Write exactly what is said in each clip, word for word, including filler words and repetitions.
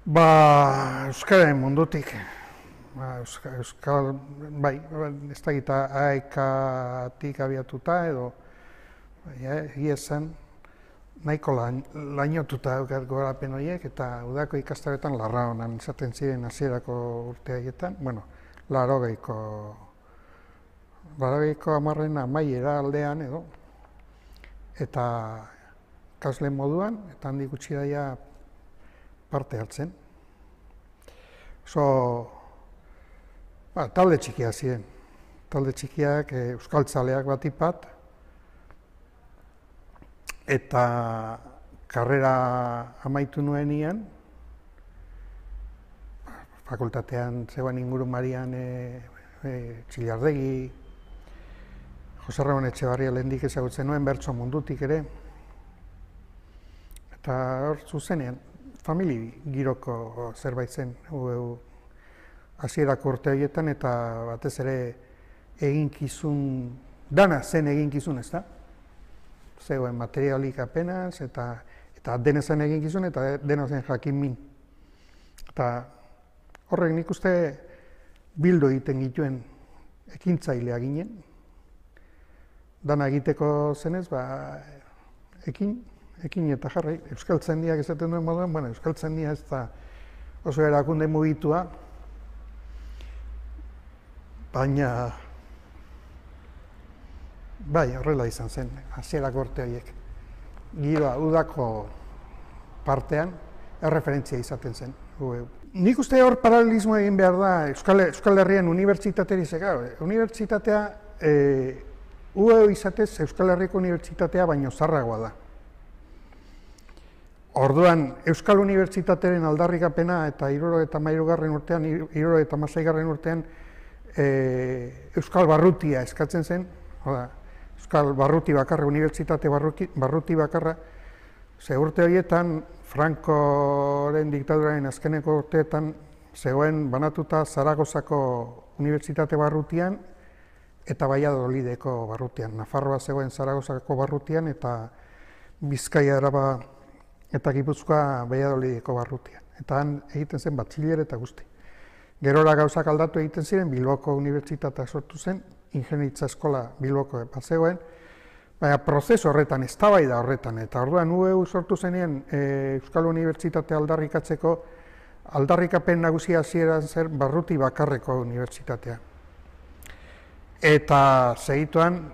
Ba, Euskararen mundutik. Ba, Euska- Euskal, bai, ez da gita aekatik abiatuta edo, egia esan, nahiko lain, lainotuta daukat gorapen horiek eta udako ikastaroetan larra honan izaten ziren hasierako urte haietan, bueno, larogeiko, larogeiko hamarren amaiera aldean edo, eta ikasle moduan, eta handik gutxi daia parte hartzen. Oso, ba, talde txikiak ziren. Talde txikiak, e, euskaltzaleak batipat, eta karrera amaitu nuenian, fakultatean zegoen ingurumarian e, e, Txillardegi, Jose Ramon Etxebarria lehendik ezagutzen nuen, bertso mundutik ere, eta hor zuzenean, famili giroko zerbait zen, hasierako urte horietan, eta batez ere eginkizun, dana zen eginkizun, ez da? Zegoen materialik apenas, eta, eta dena zen eginkizun, eta dena zen jakin min. Eta horrek nik uste bildu egiten gituen ekintzailea ginen. Dana egiteko zenez, ba, ekin, ekin eta jarri. Euskaltzaindiak esaten duen moduan, bueno, Euskaltzaindia ez da oso erakunde mugitua, baina bai, horrela izan zen, hasierako urte horiek. Giroa, udako partean, erreferentzia izaten zen. Nik uste hor paralelismo egin behar da Euskal, Euskal Herrian unibertsitateri zega. Unibertsitatea, e, U E U izatez Euskal Herriko unibertsitatea baino zarragoa da. Orduan, Euskal Unibertsitatearen aldarrikapena eta hirurogeita hamairugarren urtean, hirurogeita hamaseigarren urtean e, Euskal Barrutia eskatzen zen, oda, Euskal Barruti bakarra, Unibertsitate barruti, barruti bakarra, ze urte horietan, Francoren diktaduraren azkeneko urteetan, zegoen banatuta Zaragozako Unibertsitate barrutian, eta Valladolideko barrutian. Nafarroa zegoen Zaragozako barrutian, eta Bizkaia Araba eta Gipuzkoa Valladolideko barrutian. Eta han egiten zen batxiller eta guzti. Gerora gauzak aldatu egiten ziren, Bilboko Unibertsitatea sortu zen, ingeniaritza eskola Bilboko bat zegoen, baina prozesu horretan, eztabaida horretan, eta orduan U E U sortu zenean e, Euskal Unibertsitatea aldarrikatzeko, aldarrikapen nagusia hasieran zer barruti bakarreko unibertsitatea. Eta segituan,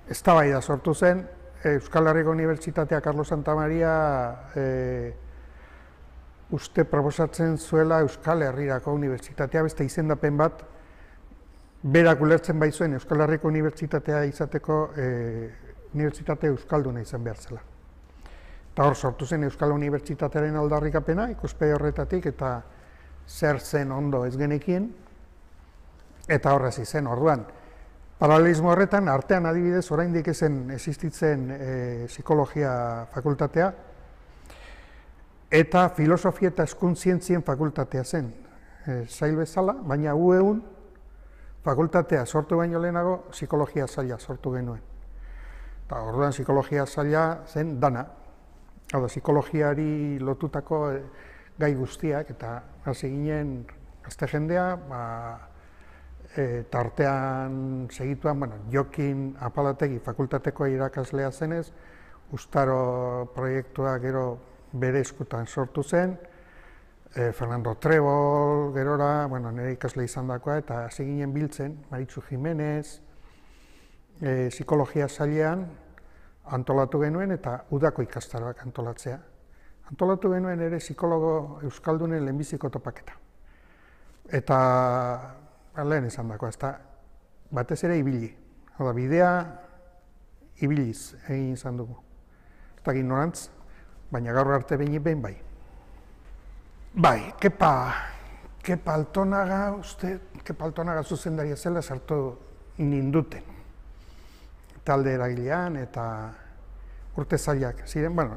eztabaida sortu zen, Euskal Herriko Unibertsitatea Carlos Santamaria e, uste proposatzen zuela Euskal Herrirako Unibertsitatea, beste izendapen bat, berak ulertzen baizuen Euskal Herriko Unibertsitatea izateko e, Unibertsitate Euskalduna izan behar zela. Eta hor sortu zen Euskal Unibertsitatearen aldarrikapena, ikuspegi horretatik, eta zer zen ondo ez genekien, eta horrez izen, orduan. Paralelismo horretan, artean adibidez, oraindik ezen existitzen e, psikologia fakultatea, eta filosofia eta hezkuntzientzien fakultatea zen, e, sail bezala, baina U E Un fakultatea sortu baino lehenago, psikologia saila sortu genuen. Eta orduan psikologia saila zen dana, hau da, psikologiari lotutako e, gai guztiak, eta hasi ginen gazte jendea, ba, e, tartean segituan, bueno, Jokin Apalategi fakultateko irakaslea zenez, Ustaro proiektua gero bere eskutan sortu zen, e, Fernando Trebol, gerora, bueno, nire ikasle izan dakoa, eta hasi ginen biltzen, Maritxu Jimenez, e, psikologia sailean antolatu genuen, eta udako ikastaroak antolatzea. Antolatu genuen ere psikologo euskaldunen lehenbiziko topaketa. Eta lehen esan dakoa, ez da, batez ere ibili. Hau da, bidea ibiliz egin izan dugu. Ez da ignorantz, baina gaur arte behinik behin bai. Bai, Kepa, Kepa Altonaga, uste, Kepa Altonaga zuzendaria zela sartu ninduten. Talde eragilean eta urte zailak ziren, bueno,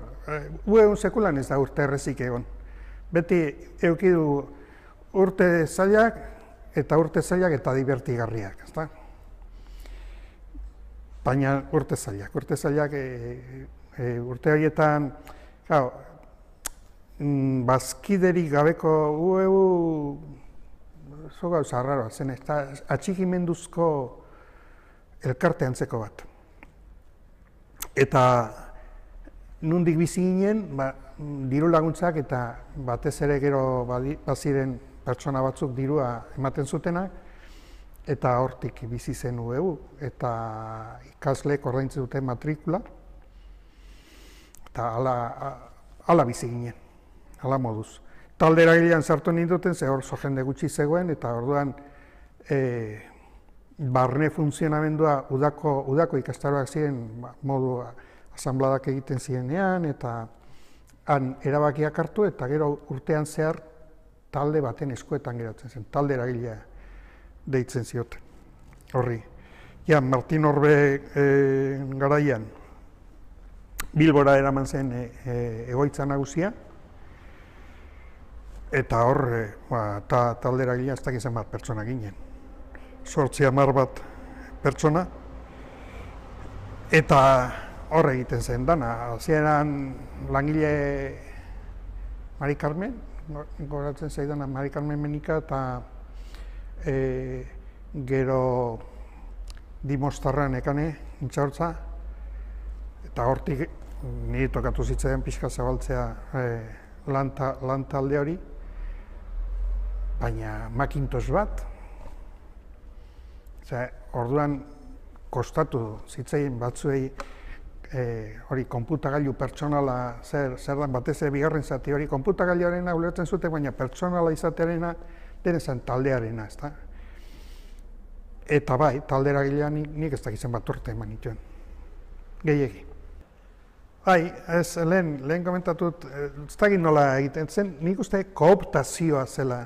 U E Un sekulan ez da urte errezik egon. Beti eukidu urte zailak eta urte zailak eta divertigarriak, ezta? Baina urte zailak, urte zailak e, e, urte horietan, claro, mm, bazkiderik gabeko ueu zo gauza arraroa zen, eta atxikimenduzko elkarte antzeko bat. Eta nundik bizi ginen, ba, diru laguntzak eta batez ere gero baziren pertsona batzuk dirua ematen zutenak, eta hortik bizi zen ueu, eta ikasleek ordaintzen dute matrikula, eta ala, ala bizi ginen, ala moduz. Talde eragilean sartu ninduten, ze hor zo jende gutxi zegoen, eta orduan e, barne funtzionamendua udako, udako ikastaroak ziren modu asanbladak egiten zirenean, eta han erabakiak hartu, eta gero urtean zehar talde baten eskuetan geratzen zen, talde eragilea deitzen zioten, horri. Ja, Martin Orbe e, garaian Bilbora eraman zen e, e, egoitza nagusia, eta hor, e, ba, ta, talde eragilea ez dakizen bat pertsona ginen. Sortzi hamar bat pertsona, eta hor egiten zen dana. Hasieran langile Mari Carmen, goratzen zaidana Mari Carmen Menika, eta e, gero Dimostarra nekane, intxaurtza, eta hortik niri tokatu zitzaidan pixka zabaltzea e, lan talde hori, baina Macintosh bat, Osea, orduan kostatu zitzaien batzuei e, hori konputagailu pertsonala zer zer dan batez ere bigarren zati hori konputagailuarena ulertzen zuten, baina pertsonala izatearena denezan taldearena, ezta? Eta bai, talde eragilean nik, nik ez dakizen bat urte eman nituen. Gehiegi. Bai, ez lehen, lehen komentatut, ez dakit nola egiten zen, nik uste kooptazioa zela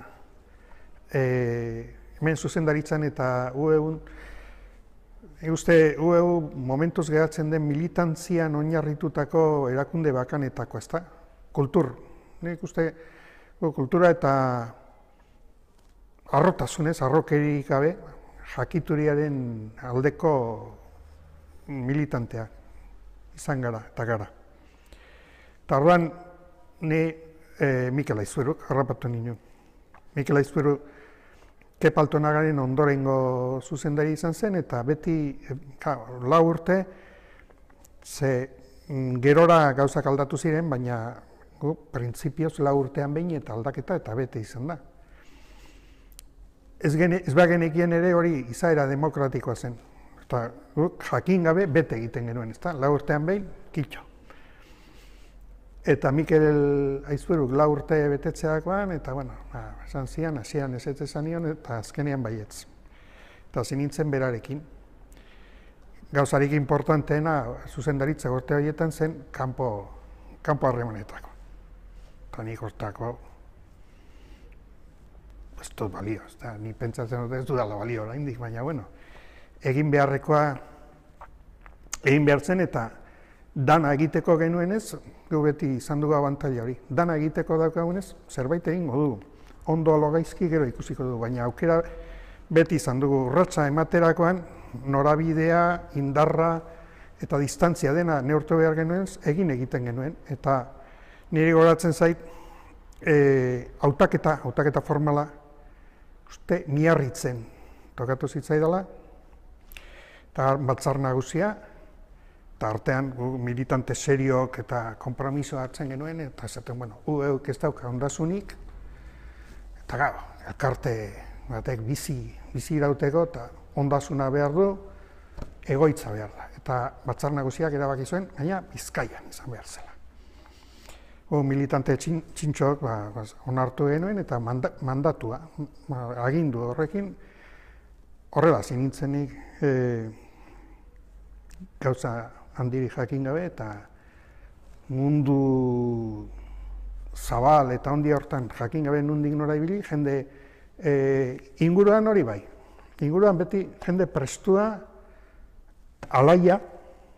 e, hemen zuzendaritzan eta U E Un, uste U E U momentuz geratzen den militantzian oinarritutako erakunde bakanetako, ezta? Kultur. Nik uste kultura eta harrotasunez, harrokerik gabe, jakituriaren aldeko militanteak izan gara eta gara. Eta orduan, ni e, Mikel Aizpuruk harrapatu ninen. Mikel Aizpuru Kepa Altonagaren ondorengo zuzendari izan zen, eta beti ka, lau urte, ze gerora gauzak aldatu ziren, baina gu, printzipioz lau urtean behin eta aldaketa eta bete izan da. Ez, gene, ez bagenekien ere hori izaera demokratikoa zen. Eta guk jakin gabe bete egiten genuen, ezta? Lau urtean behin, kitxo. Eta Mikel Aizpuruk lau urte betetzeakoan, eta bueno, esan zian, hasian ez ez esan nion, eta azkenean baietz. Eta zinintzen berarekin. Gauzarik importanteena zuzendaritza urte horietan zen kanpo, kanpo harremanetako. Eta nik hortako ez dut balio, ez da, ni pentsatzen dut ez dudala balio oraindik, baina bueno, egin beharrekoa egin behar zen, eta dana egiteko genuenez, gu beti izan dugu abantaila hori. Dana egiteko daukagunez, zerbait egingo dugu. Ondo alo gaizki gero ikusiko dugu, baina aukera beti izan dugu urratsa ematerakoan, norabidea, indarra eta distantzia dena neurtu behar genuenez, egin egiten genuen. Eta niri goratzen zait, e, hautaketa, hautaketa formala, uste miarritzen tokatu zitzaidala, eta batzar nagusia, eta artean militante seriok eta konpromiso hartzen genuen, eta esaten, bueno, U E Uk ez dauka ondasunik, eta gau, elkarte batek bizi, bizi irauteko, eta ondasuna behar du, egoitza behar da. Eta batzar nagusiak erabaki zuen, gaina Bizkaian izan behar zela. U militante txin, txintxok ba, ba, onartu genuen, eta manda, mandatua, ba, agindu horrekin, horrela zinintzenik e, gauza handiri jakin gabe, eta mundu zabal eta handi hortan jakin gabe nundik nora ibili, jende e, inguruan hori bai. Inguruan beti jende prestua, alaia,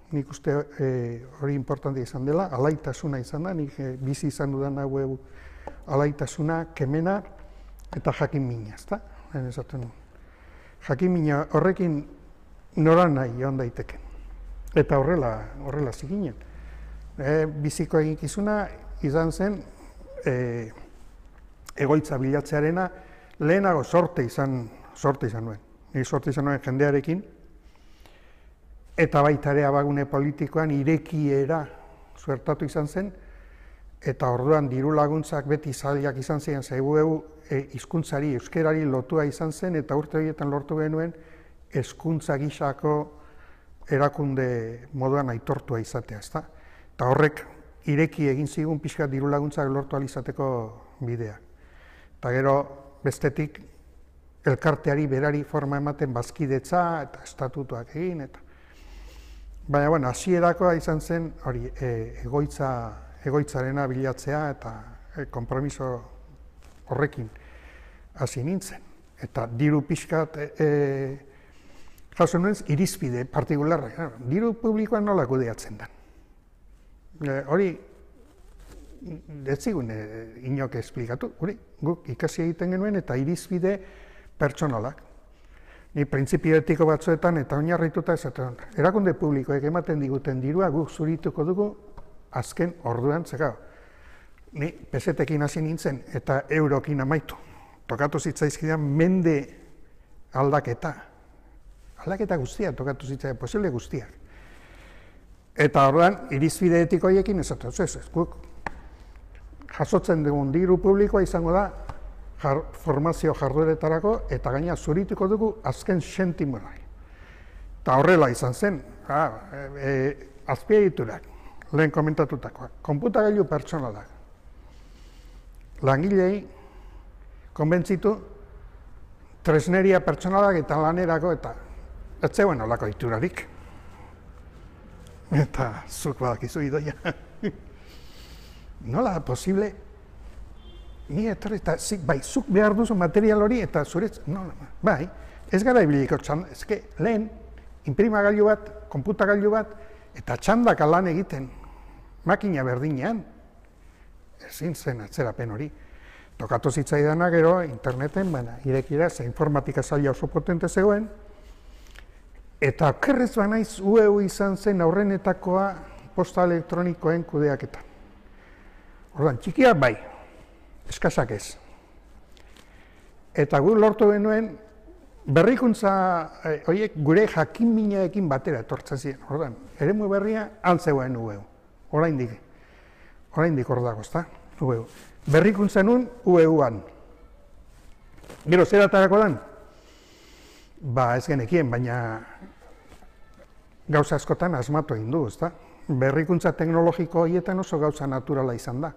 nik uste e, hori importante izan dela, alaitasuna izan da, nik e, bizi izan dudan hau alaitasuna, kemena eta jakin mina, ezta? Esaten du. Jakin mina horrekin nora nahi joan daiteke. Eta horrela, horrela ziginen. E, biziko eginkizuna izan zen e, egoitza bilatzearena, lehenago sorte izan, sorte izan nuen. Ni sorte izan nuen jendearekin, eta baita ere abagune politikoan irekiera suertatu izan zen, eta orduan diru laguntzak beti zailak izan ziren, zegu e, hizkuntzari, euskerari lotua izan zen, eta urte horietan lortu genuen hezkuntza gisako erakunde moduan aitortua izatea, ezta? Eta horrek ireki egin zigun pixka diru laguntzak lortu ahal izateko bidea. Eta gero bestetik elkarteari berari forma ematen bazkidetza eta estatutuak egin, eta baina, bueno, hasierakoa izan zen hori e, egoitza, egoitzarena bilatzea eta e, konpromiso horrekin hasi nintzen. Eta diru pixkat e, e, jaso nuen irizpide partikularra. Diru publikoan nola kudeatzen da. E, hori ez zigun e, inok esplikatu, hori guk ikasi egiten genuen eta irizpide pertsonalak. Ni printzipio etiko batzuetan eta oinarrituta esaten, erakunde publikoek ematen diguten dirua guk zurituko dugu azken orduan, zeka. Ni pesetekin hasi nintzen eta eurokin amaitu. Tokatu zitzaizkidan mende aldaketa. Aldaketa guztia tokatu zitzaidan, posible guztiak. Eta orduan, irizpide etiko horiekin esaten, ez, ez, guk jasotzen dugun diru publikoa izango da jar, formazio jardueretarako eta gaina zurituko dugu azken sentimora. Eta horrela izan zen, ah, e, e, azpiegiturak, lehen komentatutakoak, konputagailu pertsonalak. Langilei konbentzitu tresneria pertsonalak eta lanerako eta ez zegoen olako iturarik. Eta zuk badakizu idoia. Nola da posible, ni etorri eta zik, bai, zuk behar duzu material hori eta zuretz, no, bai, ez gara ibiliko txanda, ezke lehen, inprimagailu bat, konputagailu bat, eta txandaka lan egiten, makina berdinean, ezin zen atzerapen hori. Tokatu zitzaidana gero interneten, baina, irekira, ze informatika zaila oso potente zegoen, eta okerrez banaiz U E U izan zen aurrenetakoa posta elektronikoen kudeaketan. Orduan, txikia bai, eskasak ez. Eta gu lortu genuen berrikuntza horiek gure jakin-minaekin batera etortzen ziren. Orduan, eremu berria altzegoen U E U. Oraindik, oraindik hor dago, ezta? U E U. Berrikuntza nun U E U-an. Gero, zer atarako dan? Ba, ez genekien, baina gauza askotan asmatu egin du, ezta? Berrikuntza teknologiko horietan oso gauza naturala izan da.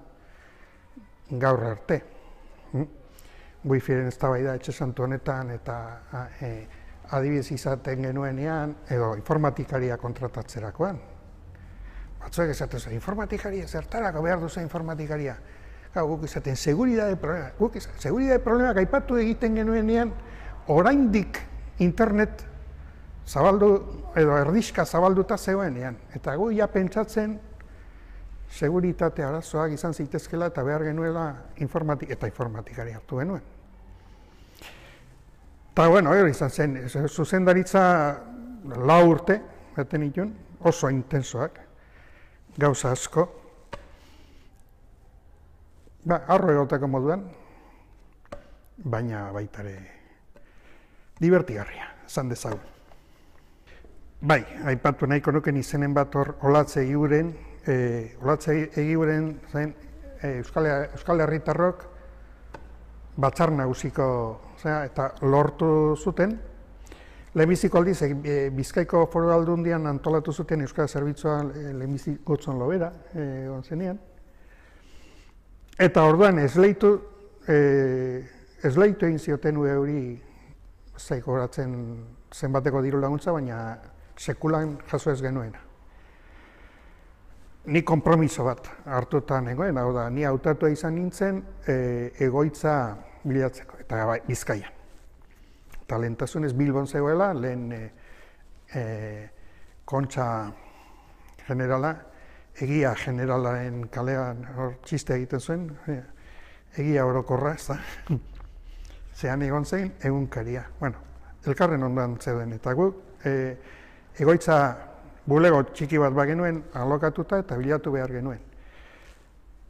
Gaur arte. Wifiren eztabaida etxe santu honetan eta e, adibidez izaten genuenean edo informatikaria kontratatzerakoan. Batzuek esaten zen, informatikaria, zertarako behar duzu informatikaria. Gau, guk izaten, seguridade problema. Guk izaten, seguridade problema gaipatu egiten genuenean, oraindik internet zabaldu, edo erdizka zabalduta zegoenean. Eta gu ja pentsatzen, seguritate arazoak izan zitezkela eta behar genuela informatik, eta informatikari hartu genuen. Eta, bueno, hori izan zen, zuzendaritza lau urte, beten itun, oso intensoak, gauza asko. Ba, arro egoteko moduan, baina baitare divertigarria, esan dezagun. Bai, aipatu nahiko nuken izenen bat hor Olatze Egiuren, E, Olatze Egiuren zen e, Euskal, Euskal Herritarrok batzar nagusiko eta lortu zuten. Lehenbiziko aldiz, e, Bizkaiko Foru Aldundian antolatu zuten Euskal Zerbitzua e, lehenbiziko gotzon lobera, e, zenean. Eta orduan esleitu, e, esleitu egin zioten U E hori zaikoratzen zenbateko diru laguntza, baina sekulan jaso ez genuena. Ni konpromiso bat hartuta nengoen, hau da, ni hautatua izan nintzen e, egoitza bilatzeko, eta bai, Bizkaian. Eta lehentasunez Bilbon zegoela, lehen e, e, kontxa generala, egia generalaren kalean hor txiste egiten zuen, e, egia orokorra, ez da. Zean egon zein, egunkaria. Bueno, elkarren ondoan zeuden, eta gu, e, egoitza bulego txiki bat bagenuen alokatuta eta bilatu behar genuen.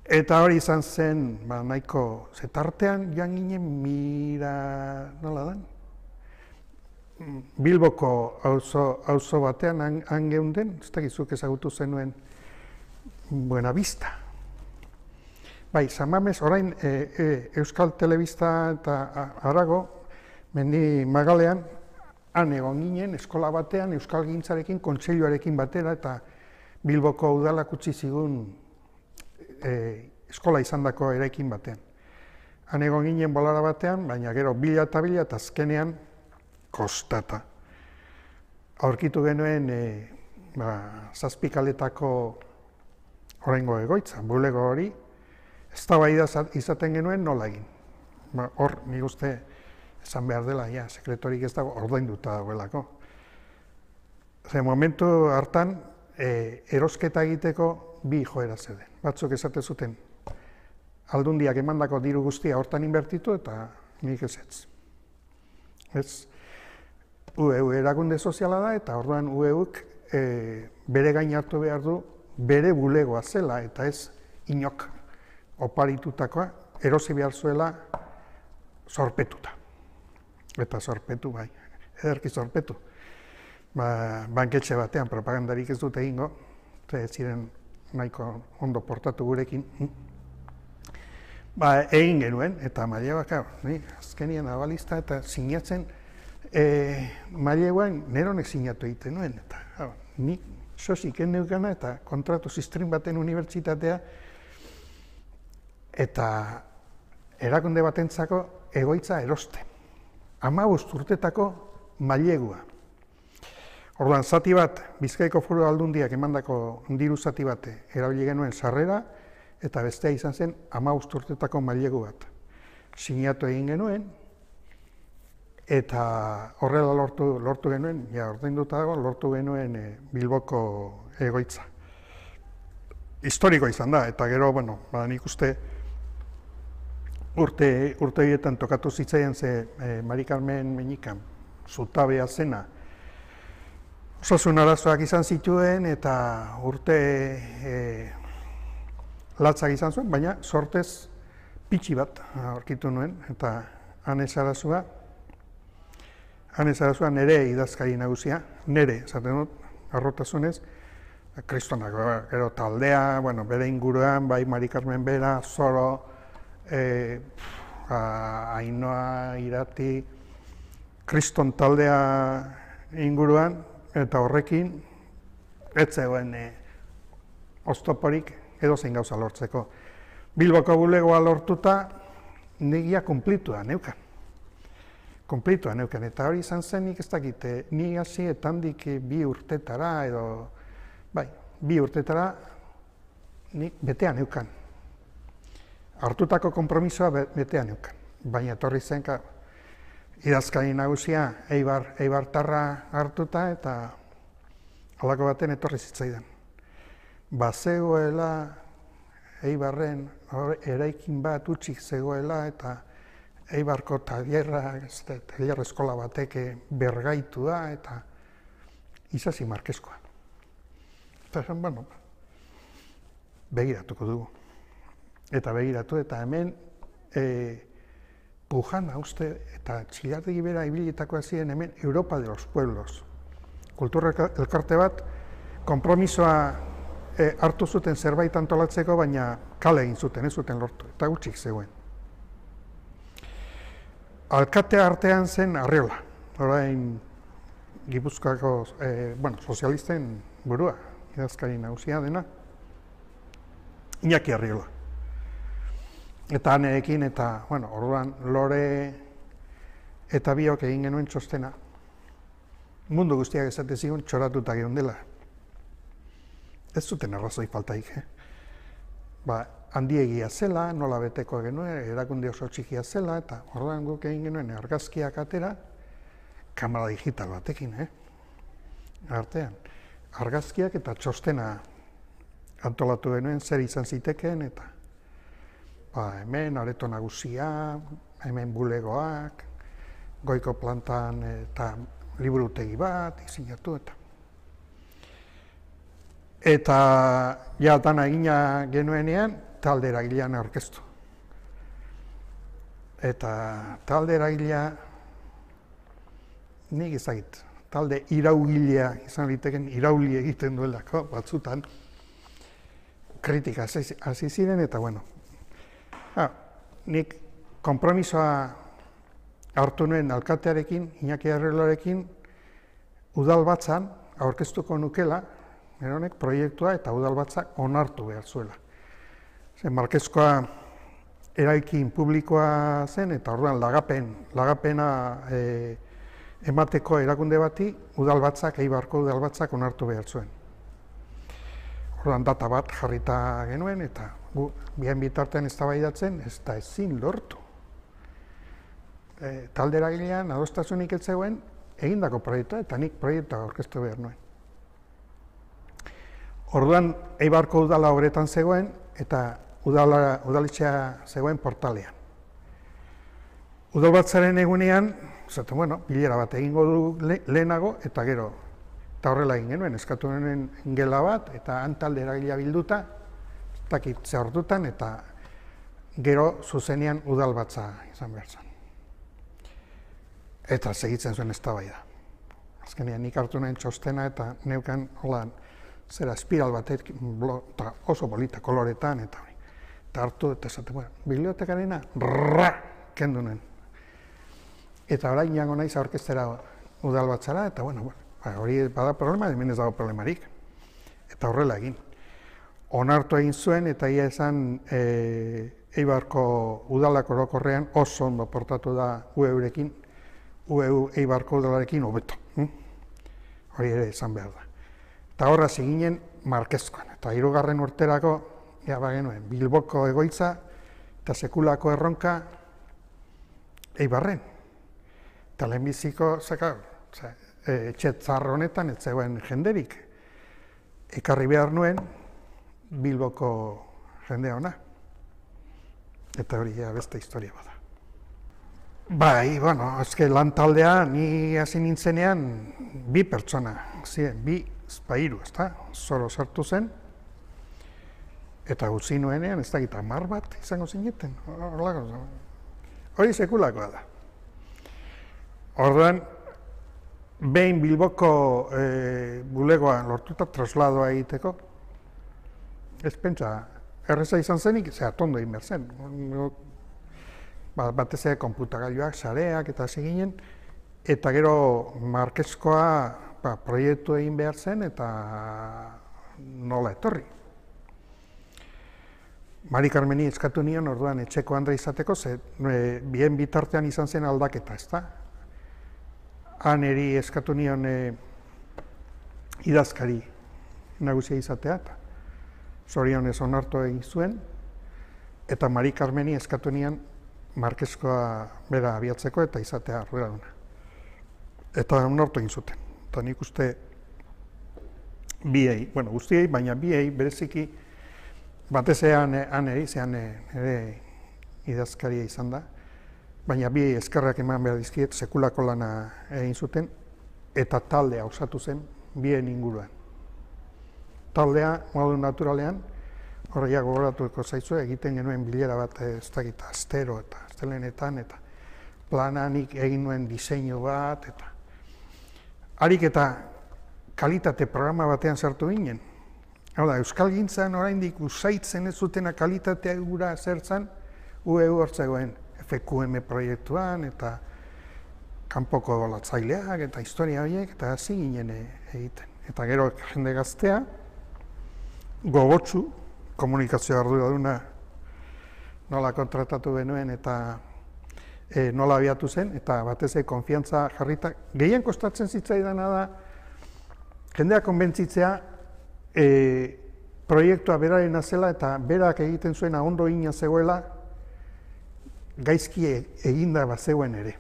Eta hori izan zen, ba, nahiko zetartean, joan ginen mira, nola da? Bilboko auzo batean han geunden, ez dakizuk ezagutu zenuen Buenavista. Bai, San Mames, orain e, e, Euskal Telebista eta harago, mendi magalean, han egon ginen, eskola batean, Euskal Gintzarekin, kontseiluarekin batera, eta Bilboko udalak utzi zigun e, eskola izandako eraikin batean. Han egon ginen bolara batean, baina gero bila eta bila, eta azkenean kostata. Aurkitu genuen e, ba, zazpikaletako oraingo egoitza, bulego hori, eztabaida izaten genuen nola egin. Ba, hor, nik uste esan behar dela, ja, sekretorik ez dago, ordainduta dagoelako. Ze momentu hartan, e, erosketa egiteko bi joera zeuden. Batzuk esate zuten, aldundiak emandako diru guztia hortan inbertitu eta nik ez ez. Ez, U E U erakunde soziala da eta orduan U E Uk e, bere gain hartu behar du bere bulegoa zela eta ez inok oparitutakoa erosi behar zuela zorpetuta. Eta zorpetu bai, ederki zorpetu. Ba, banketxe batean propagandarik ez dute egingo, ez ziren nahiko ondo portatu gurekin. Ba, egin genuen, eta maileguak, ni azkenian abalista eta sinatzen, e, maileguan neronek sinatu egiten nuen, eta hau, ni sosik enneukana eta kontratu ziztrin baten unibertsitatea, eta erakunde batentzako egoitza erosten. Hamabost urtetako mailegua. Orduan, zati bat, Bizkaiko Foru Aldundiak emandako diru zati bat erabili genuen sarrera, eta bestea izan zen hamabost urtetako mailegu bat. Sinatu egin genuen, eta horrela lortu, lortu genuen, ja, ordainduta dago, lortu genuen e, Bilboko egoitza. Historiko izan da, eta gero, bueno, ba, nik uste urte, urte horietan tokatu zitzaian ze e, Mari Carmen Meñikan zutabea zena, osasun arazoak izan zituen eta urte e, latzak izan zuen, baina sortez pitxi bat aurkitu nuen, eta Ane Sarazua, Ane Sarazua nere idazkari nagusia, nere, esaten dut, arrotasunez, kristonako, gero taldea, bueno, bere inguruan, bai Mari Carmen Bera, Zoro, e, Ainoa, Irati, kriston taldea inguruan, eta horrekin, ez zegoen e, oztoporik edozein gauza lortzeko. Bilboko bulegoa lortuta, negia kumplitua neukan. Kumplitua neukan, eta hori izan zen nik ez dakite, ni hasi etandik bi urtetara, edo, bai, bi urtetara, nik betean neukan. Hartutako konpromisoa betean neukan, baina etorri zen, idazkari nagusia Eibar, Eibartarra hartuta eta halako baten etorri zitzaidan. Bazegoela Eibarren eraikin bat utzik zegoela eta Eibarko tailerra, tailer eskola batek bergaitua eta Isasi Markeskoa. Eta esan, bueno, begiratuko dugu. Eta begiratu eta hemen e, Pujana uste eta Txilardegi bera ibilitakoa ziren hemen Europa de los Pueblos. Kultura elkarte bat, konpromisoa e, hartu zuten zerbait antolatzeko, baina kale egin zuten, ez zuten lortu, eta gutxik zegoen. Alkatea artean zen Arriola, orain Gipuzkoako, e, bueno, sozialisten burua, idazkari nagusia dena, Iñaki Arriola. Eta aneekin, eta, bueno, orduan, Lore eta biok egin genuen txostena. Mundu guztiak esate zigun txoratuta geundela. Ez zuten arrazoi faltaik, eh? Ba, handiegia zela, nola beteko genuen, erakunde oso txikia zela, eta orduan guk egin genuen argazkiak atera, kamera digital batekin, eh? Artean, argazkiak eta txostena antolatu genuen, zer izan zitekeen, eta ba, hemen areto nagusia, hemen bulegoak, goiko plantan eta liburutegi bat, izinatu eta. Eta ja dana egina genuenean, talde eragilean aurkeztu. Eta talde eragilea, nik ezagit, talde iraugilea izan liteken, irauli egiten duelako batzutan, kritika hasi ziren, eta bueno, ha, nik konpromisoa hartu nuen alkatearekin, Iñaki Arreloarekin, udalbatzan aurkeztuko nukela, honek proiektua eta udalbatzak onartu behar zuela. Zen Markezkoa eraikin publikoa zen, eta orduan lagapen, lagapena e, emateko erakunde bati, udalbatzak, Eibarko udalbatzak onartu behar zuen. Orduan data bat jarrita genuen, eta gu, bien bitartean eztabaidatzen, ez da ezin lortu. E, talde eragilean, adostasunik ez zegoen, egindako proiektua, eta nik proiektua aurkeztu behar nuen. Orduan, Eibarko udala horretan zegoen, eta udala, udaletxea zegoen portalean. Udalbatzaren egunean, zaten, bueno, bilera bat egingo du le, lehenago, eta gero, eta horrela egin genuen, eskatu genuen gela bat, eta han talde eragilea bilduta, ez dakit ze ordutan, eta gero zuzenean udalbatza izan behar zen. Eta segitzen zuen eztabaida. Azkenean nik hartu nuen txostena eta neukan holan zera espiral batek oso polita koloretan eta hori. Eta hartu eta esate, bueno, bibliotekarena rrrra kendu nuen. Eta orain jango naiz aurkeztera udalbatzara eta bueno, ba, hori bada problema, hemen ez dago problemarik. Eta horrela egin. Onartu egin zuen eta ia esan e, Eibarko udalak orokorrean oso ondo portatu da U E urekin, U E U Eibarko udalarekin hobeto. Hm? Hori ere esan behar da. Eta horra ziginen Markezkoan. Eta hirugarren urterako, ja bagenuen, Bilboko egoitza eta sekulako erronka Eibarren. Eta lehenbiziko, zeka, etxe txar honetan, ez zegoen jenderik. Ekarri behar nuen Bilboko jendea ona. Eta hori ja beste historia bada. Bai, bueno, ezke lan taldea ni hasi nintzenean bi pertsona, ziren, bi espairu, ezta? Zoro sartu zen, eta utzi nuenean, ez dakit hamar bat izango zineten, hori sekulakoa da. Orduan, behin Bilboko e, bulegoa lortuta trasladoa egiteko, ez pentsa, erreza izan zenik, ze atondo egin behar zen. Batez ere konputagailuak, sareak eta seginen, eta gero Markezkoa ba, proiektu egin behar zen eta nola etorri. Mari Karmeni eskatu nion orduan etxeko Andre izateko, ze e, bien bitartean izan zen aldaketa, ezta? Han eri eskatu nion e, idazkari nagusia izatea, eta zorionez onartu egin zuen, eta Mari Karmeni eskatu nion Markezkoa bera abiatzeko eta izatea arduraduna. Eta onartu egin zuten. Eta nik uste biei, bueno, guztiei, baina biei bereziki batez ean eri, zean ere idazkaria izan da, baina biei eskerrak eman behar dizkiet, sekulako lana egin zuten, eta taldea osatu zen bien inguruan. Taldea, modu naturalean, horreia gogoratuko zaizu, egiten genuen bilera bat ez dakit astero eta astelenetan, eta plananik egin nuen diseinu bat, eta harik eta kalitate programa batean sartu ginen. Hau da, Euskalgintzan oraindik usaitzen ez zutena kalitatea gura zertzan, U E U hortzegoen F Q M proiektuan, eta kanpoko golatzaileak, eta historia horiek, eta hasi ginen egiten. Eta gero jende gaztea, gogotsu, komunikazio arduraduna nola kontratatu genuen eta e, nola abiatu zen, eta batez ere konfiantza jarrita. Gehien kostatzen zitzaidana da, jendea konbentzitzea e, proiektua berarena zela eta berak egiten zuena ondo ina zegoela, gaizki eginda bat zegoen ere.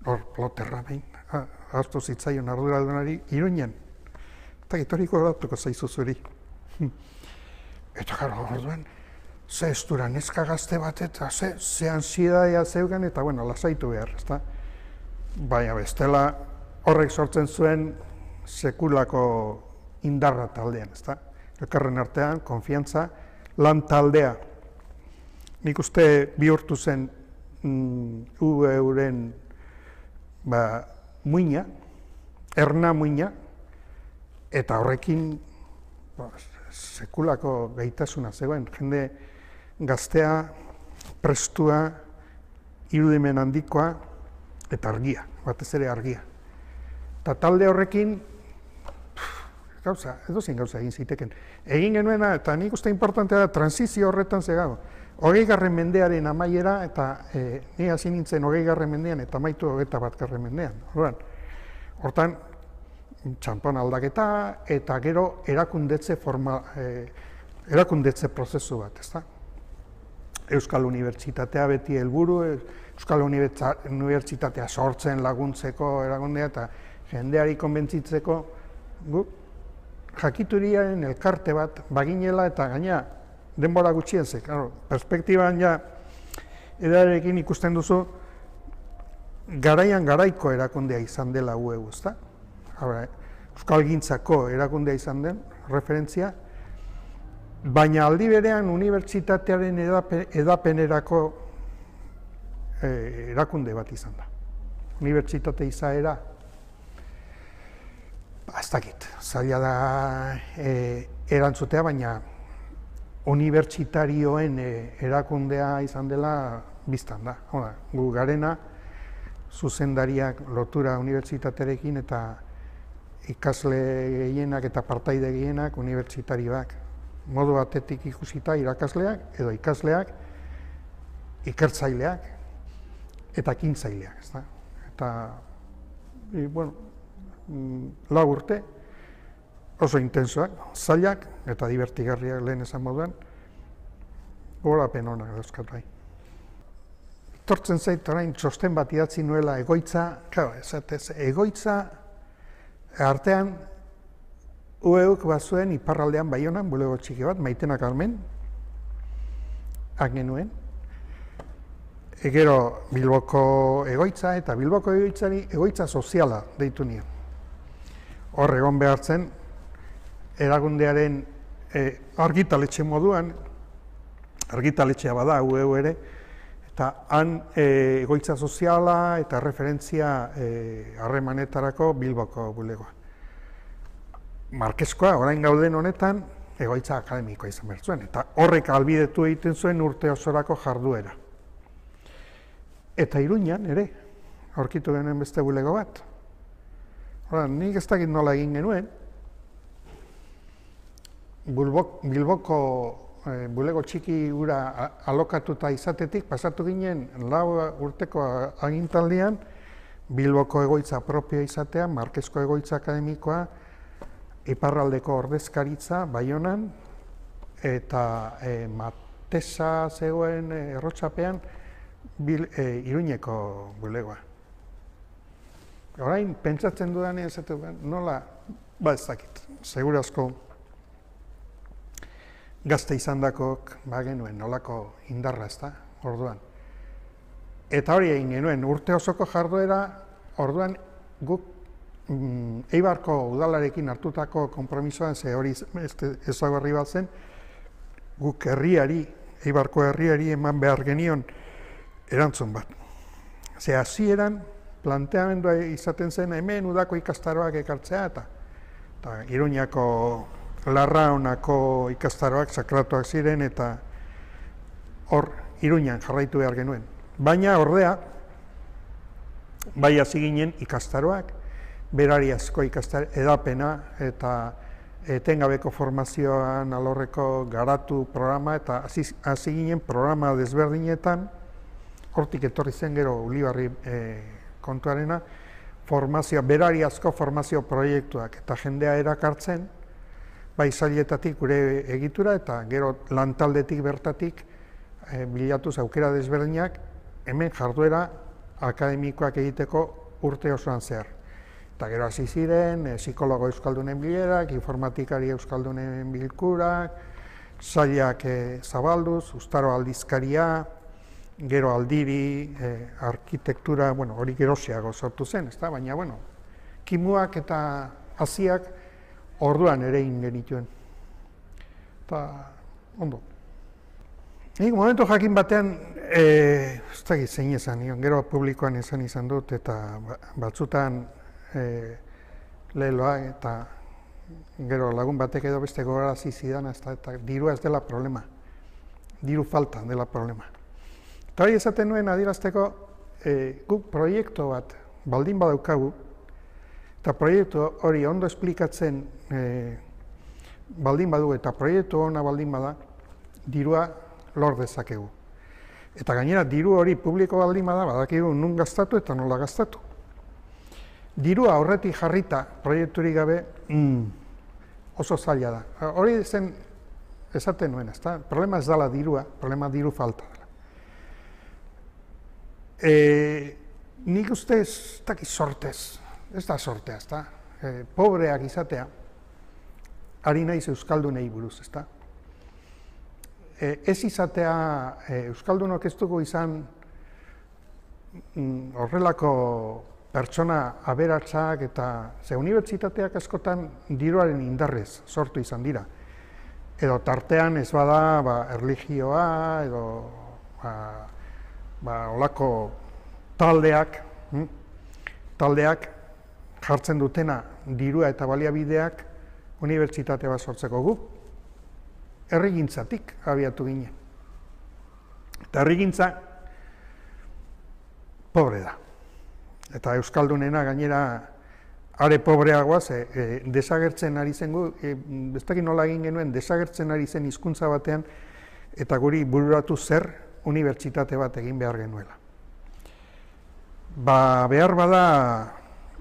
Hor, ploterra behin, ahaztu zitzaion arduradunari Iruñen, eta gitoriko datuko zaizu zuri. Eta gara, orduan, ze estura neska gazte bat eta ze, ze ansiedadea zeugan eta, bueno, lasaitu behar, ezta? Baina bestela horrek sortzen zuen sekulako indarra taldean, ezta? Elkarren artean, konfiantza, lan taldea. Nik uste bihurtu zen mm, U E-ren ba, muina, erna muina, eta horrekin ba, sekulako gaitasuna zegoen. Jende gaztea, prestua, irudimen handikoa, eta argia, batez ere argia. Eta talde horrekin, gauza, edozein gauza egin ziteken. Egin genuena, eta nik uste importantea da, transizio horretan zegago. Hogei garren mendearen amaiera, eta e, ni hasi nintzen hogei garren mendean, eta amaitu hogeita bat garren mendean. Hortan, hortan, txanpon aldaketa, eta gero erakundetze forma, e, erakundetze prozesu bat, ezta? Euskal Unibertsitatea beti helburu, Euskal Unibertsitatea sortzen laguntzeko erakundea, eta jendeari konbentzitzeko, gu, jakituriaren elkarte bat baginela eta gaina denbora gutxien ze, claro, perspektiban ja edarekin ikusten duzu garaian garaiko erakundea izan dela U E U, ezta? Euskalgintzako erakundea izan den, referentzia, baina aldi berean unibertsitatearen edapen, edapenerako eh, erakunde bat izan da. Unibertsitate izaera, ez dakit, zaila da e, erantzutea, baina unibertsitarioen e, erakundea izan dela biztan da. Hora, gu garena, zuzendariak lotura unibertsitaterekin eta ikasle gehienak eta partaide gehienak unibertsitarioak. Modu batetik ikusita irakasleak edo ikasleak, ikertzaileak eta ekintzaileak, ez da? Eta, e, bueno, lau urte, oso intensoak, zailak eta divertigarriak lehen esan moduan, gorapen honak dauzkat bai. Tortzen zait orain txosten bat idatzi nuela egoitza, claro, esatez, egoitza artean U E Uk bazuen iparraldean Baionan, bulego txiki bat, Maitena Carmen, hak genuen. E gero Bilboko egoitza eta Bilboko egoitzari egoitza soziala deitu nion. Hor egon behar zen, erakundearen e, argitaletxe moduan, argitaletxea bada U E U ere, eta han e, egoitza soziala eta referentzia harremanetarako e, Bilboko bulegoa. Markeskoa, orain gauden honetan, egoitza akademikoa izan behar zuen, eta horrek albidetu egiten zuen urte osorako jarduera. Eta Iruñan ere, aurkitu genuen beste bulego bat. Hora, nik ez dakit nola egin genuen, Bilboko, Bilboko e, bulego txiki gura alokatuta izatetik, pasatu ginen lau urteko agintaldian, Bilboko egoitza propioa izatea, Markesko egoitza akademikoa, iparraldeko ordezkaritza, Baionan, eta e, Matesa zegoen e, errotxapean, bil, e, Iruñeko bulegoa. Orain, pentsatzen dudanean, nola, ba ez dakit, segurazko gazte izan dakok, ba genuen, nolako indarra ez da, orduan. Eta hori egin genuen, urte osoko jarduera, orduan guk mm, Eibarko udalarekin hartutako konpromisoan, ze hori ezagarri bat zen, guk herriari, Eibarko herriari eman behar genion erantzun bat. Ze hasieran, planteamendua izaten zen hemen udako ikastaroak ekartzea eta, eta Iruñako Larraunako ikastaroak sakratuak ziren eta hor Iruñan jarraitu behar genuen. Baina ordea, bai hasi ginen ikastaroak, berariazko ikastaro edapena eta etengabeko formazioan alorreko garatu programa eta hasi ginen programa desberdinetan, hortik etorri zen gero Ulibarri e, kontuarena, formazio, berariazko formazio proiektuak eta jendea erakartzen, bai sailetatik gure egitura eta gero lantaldetik bertatik e, bilatuz aukera desberdinak hemen jarduera akademikoak egiteko urte osoan zehar. Eta gero hasi ziren, e, psikologo euskaldunen bilerak, informatikari euskaldunen bilkurak, sailak e, zabalduz, Uztaro aldizkaria, gero aldiri, eh, arkitektura, bueno, hori geroxeago sortu zen, ezta? Baina, bueno, kimuak eta haziak orduan ere egin genituen. Eta, ondo. Nik momentu jakin batean, ez dakit zein esan, gero publikoan esan izan dut, eta batzutan leheloa, eta gero lagun batek edo beste gogarazi zidan, eta dirua ez dela problema, diru falta dela problema. Eta hori esaten nuen adierazteko, guk proiektu bat baldin badaukagu, eta proiektu hori ondo esplikatzen baldin badu, eta proiektu ona baldin bada, dirua lor dezakegu. Eta gainera, diru hori publiko baldin bada, badakigu nun gastatu eta nola gastatu. Dirua horretik jarrita, proiekturik gabe, oso zaila da. Hori zen esaten nuen, ezta? Problema ez dela dirua, problema diru falta dela. Nik uste ez dakit sortez, ez da sortea, ezta? Pobreak izatea, ari naiz euskaldunei buruz, ezta? Ez izatea, euskaldunok ez dugu izan horrelako pertsona aberatsak eta ze unibertsitateak askotan diruaren indarrez sortu izan dira. Edo tartean ez bada erlijioa edo olako taldeak, taldeak jartzen dutena dirua eta baliabideak unibertsitate bat sortzeko guk. Herrigintzatik abiatu ginen. Eta herrigintza pobre da. Eta euskaldunena gainera are pobreagoa, ze desagertzen ari zen gu, ez dakit nola egin genuen, desagertzen ari zen hizkuntza batean, eta guri bururatu zer unibertsitate bat egin behar genuela. Ba, behar bada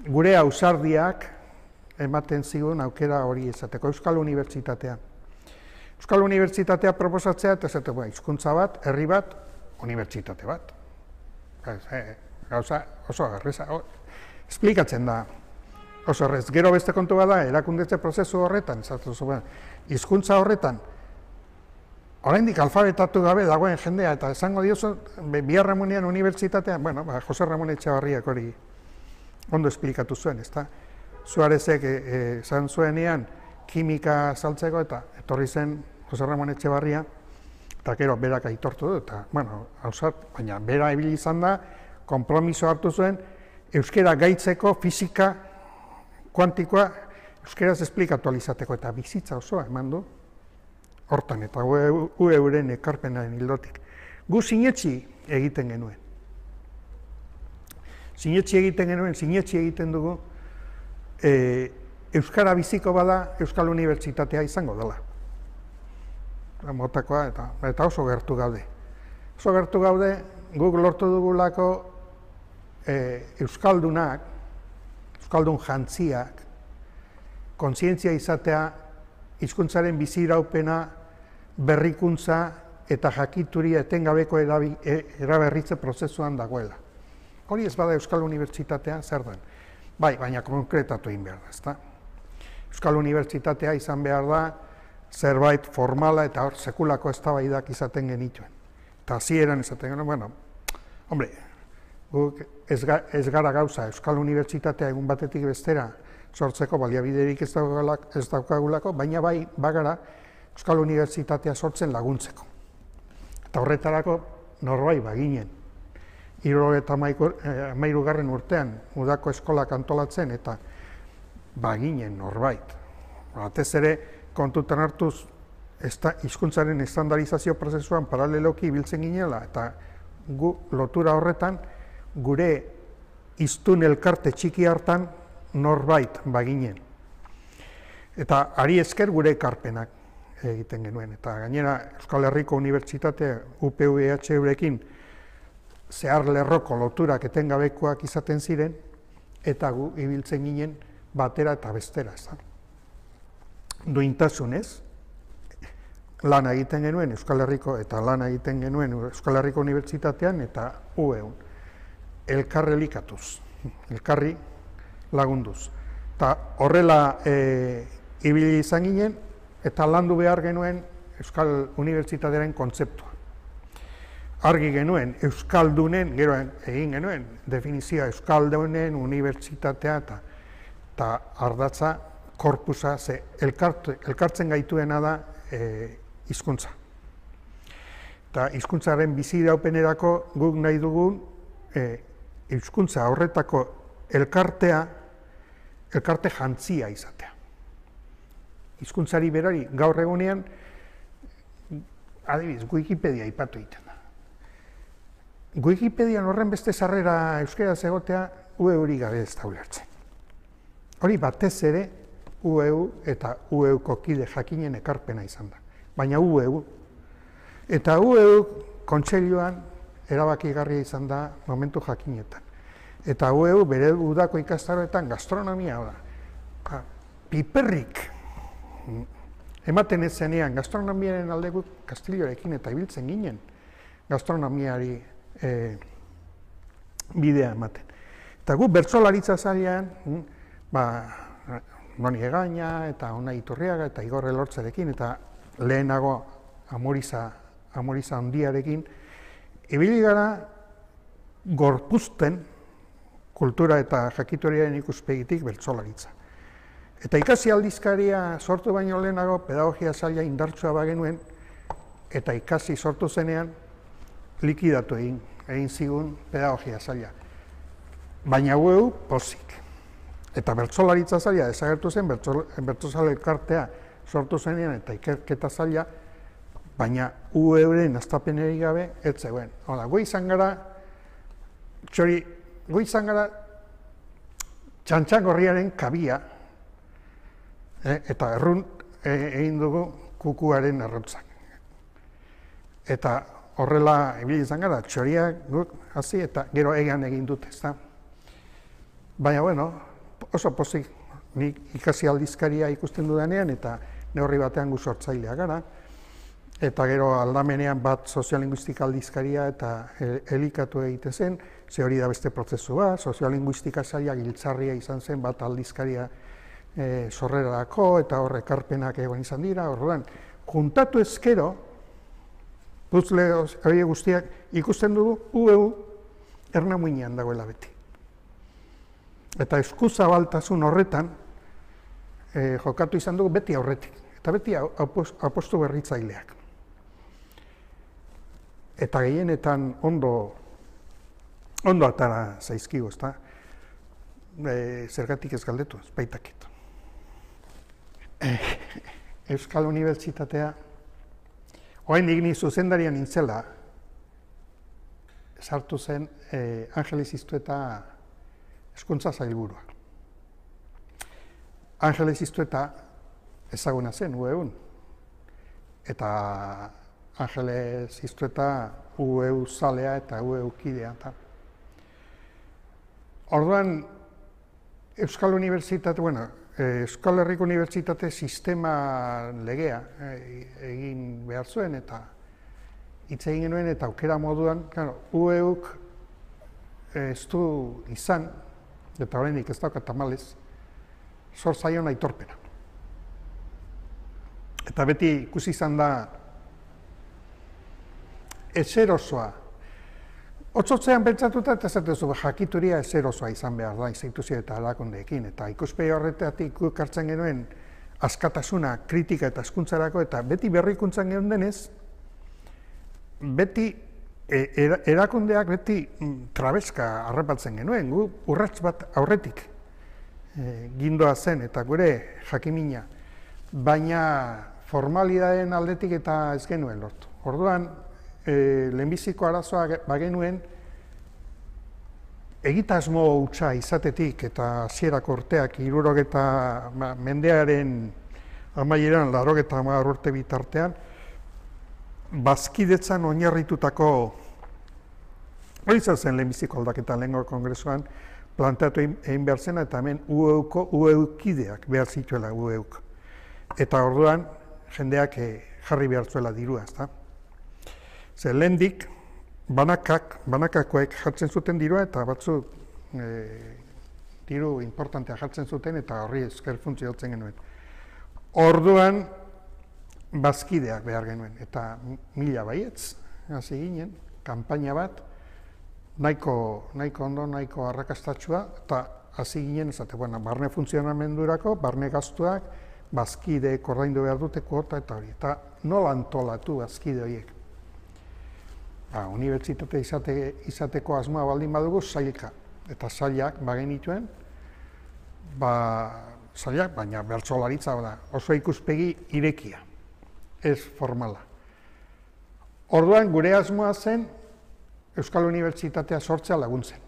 gure ausardiak ematen zigun aukera hori izateko Euskal Unibertsitatea. Euskal Unibertsitatea proposatzea, eta esateko, hizkuntza bat, herri bat, unibertsitate bat. Gauza oso agarreza, esplikatzen da oso horrez. Gero beste kontu bada, erakundetze prozesu horretan, hizkuntza horretan, oraindik alfabetatu gabe dagoen jendea, eta esango diozu, Bihar Ramunean unibertsitatean, bueno, Jose Ramon Etxebarriak hori ondo esplikatu zuen, ezta? Suarezek esan zuenean kimika saltzeko, eta etorri zen Jose Ramon Etxebarria, eta gero berak aitortu du, eta, bueno, hausat, baina bera ibili izan da, konpromiso hartu zuen, euskera gaitzeko, fisika, kuantikoa, euskeraz esplikatu alizateko, eta bizitza osoa eman du, hortan, eta gu euren ekarpenaren hildotik. Gu sinetxi egiten genuen. Sinetxi egiten genuen, sinetxi egiten dugu, euskara biziko bada Euskal Unibertsitatea izango dela. Motakoa, eta oso gertu gaude. Oso gertu gaude, guk lortu dugulako euskaldunak, euskaldun jantziak, kontzientzia izatea, hizkuntzaren biziraupena, berrikuntza eta jakituria etengabeko eraberritze prozesuan dagoela. Hori ez bada Euskal Unibertsitatea zer den. Bai, baina konkretatu egin behar da, ezta? Euskal Unibertsitatea izan behar da zerbait formala eta hor sekulako eztabaidak izaten genituen. Eta hasieran izaten genuen, bueno, hombre, guk ez gara gauza Euskal Unibertsitatea egun batetik bestera sortzeko baliabiderik ez daukagulako, baina bai bagara Euskal Unibertsitatea sortzen laguntzeko. Eta horretarako norbait baginen. Hirurogeita hamairugarren urtean udako eskolak antolatzen eta baginen norbait. Batez ere kontutan hartuz hizkuntzaren estandarizazio prozesuan paraleloki ibiltzen ginela eta gu lotura horretan gure hiztun elkarte txiki hartan norbait baginen. Eta hari esker gure ekarpenak egiten genuen. Eta gainera Euskal Herriko Unibertsitatea U P V H Eurekin zehar lerroko loturak etengabekoak izaten ziren, eta gu ibiltzen ginen batera eta bestera. Duintasunez, lan egiten genuen Euskal Herriko eta lan egiten genuen Euskal Herriko Unibertsitatean eta U E-un. Elkarri elikatuz, elkarri lagunduz. Eta horrela ibili izan ginen eta landu behar genuen Euskal Unibertsitatearen kontzeptua. Argi genuen, Euskaldunen, gero egin genuen, definizioa Euskaldunen unibertsitatea eta ardatza korpusa, ze elkartzen gaituena da hizkuntza. Eta hizkuntzaren biziraupenerako guk nahi dugun hizkuntza horretako elkartea, elkarte jantzia izatea. Hizkuntzari berari gaur egunean, adibidez, Wikipedia aipatu egiten da. Wikipedian horren beste sarrera euskaraz egotea U E U-rik gabe ez da ulertzen. Hori batez ere U E U eta U E U-ko kide jakinen ekarpena izan da. Baina U E U. Eta U E U kontseiluan erabakigarria izan da momentu jakinetan. Eta U E U bere udako ikastaroetan gastronomia da. Piperrik ematen ez zenean gastronomiaren aldeko Kastillorekin eta ibiltzen ginen gastronomiari bidea ematen. Eta gu bertsolaritza zailean, Doni Egaña eta Ona Iturriaga eta Igor Elortzarekin eta lehenago Amoriza Amoriza handiarekin, ibili gara gorpuzten kultura eta jakitoriaren ikuspegitik bertsolaritza. Eta ikasi aldizkaria sortu baino lehenago pedagogia saila indartsua bagenuen, eta ikasi sortu zenean likidatu egin, egin zigun pedagogia saila. Baina U E U pozik. Eta bertsolaritza saila desagertu zen, bertsozale elkartea sortu zenean eta ikerketa saila, baina U E U-ren astapeneri gabe ez zegoen. Hala, gu izan gara, txori, gu izan gara txantxangorriaren kabia, eta errun egin dugu kukuaren errotzak. Eta horrela ibili izan gara, txoriak guk hasi eta gero egan egin dut, ezta. Baina, bueno, oso pozik, nik ikasi aldizkaria ikusten dudanean eta neurri batean gu sortzailea gara. Eta gero aldamenean bat soziolinguistika aldizkaria eta elikatu egiten zen, ze hori da beste prozesu bat, soziolinguistika saila giltzarria izan zen bat aldizkaria sorrerarako eta horre ekarpenak egon izan dira, orduan, juntatu ezkero, puzzle hori guztiak ikusten dugu U E U ernamuinean dagoela beti. Eta eskuzabaltasun horretan jokatu izan dugu beti aurretik, eta beti apostu berritzaileak. Eta gehienetan ondo ondo atara zaizkigu, ezta? Zergatik ez galdetu, ez baitakit. Euskal Unibertsitatea, oraindik ni zuzendarian nintzela, sartu zen Angeles Iztueta hezkuntza sailburua. Angeles Iztueta ezaguna zen U E U-n, eta Angeles Iztueta U E U zalea eta U E U kidea. Orduan, Euskal Unibertsitate, bueno, Euskal Herriko Unibertsitate sistema legea egin behar zuen eta hitz egin genuen eta aukera moduan, claro, U E U-k ez du izan, eta oraindik ez dauka tamalez, zor zaion aitorpena. Eta beti ikusi izan da ezerosoa. Otzotzean pentsatuta eta esatezu jakituria ezerosoa izan behar da instituzio eta erakundeekin. Eta ikuspegi horretatik guk hartzen genuen askatasuna, kritika eta hezkuntzarako eta beti berrikuntzan genuen denez, beti erakundeak beti trabeska harrapatzen genuen, gu urrats bat aurretik gindoa zen eta gure jakimina, baina formalidadeen aldetik eta ez genuen lortu. Orduan, lehenbiziko arazoa bagenuen egitasmo hutsa izatetik eta hasierako urteak hirurogeta mendearen amaieran laurogeta hamar urte bitartean bazkidetzan oinarritutako hori izan zen lehenbiziko aldaketa lehengo kongresuan planteatu egin behar zena eta hemen U E U-ko U E U-kideak behar zituela U E U-k. Eta orduan jendeak jarri behar zuela dirua, ezta? Zer lehendik banakak, banakakoek jartzen zuten dirua eta batzuk diru importantea jartzen zuten eta horri esker funtzionatzen genuen. Orduan bazkideak behar genuen eta mila baietz hasi ginen, kanpaina bat, nahiko, nahiko ondo, nahiko arrakastatxua eta hasi ginen esate, bueno, barne funtzionamendurako, barne gastuak, bazkideek ordaindu behar dute kuota eta hori. Eta nola antolatu bazkide horiek? ba, unibertsitate izate, izateko asmoa baldin badugu zailka. Eta zailak bagenituen, ba, zailak, baina bertsolaritza da, oso ikuspegi irekia, ez formala. Orduan gure asmoa zen Euskal Unibertsitatea sortzea laguntzen.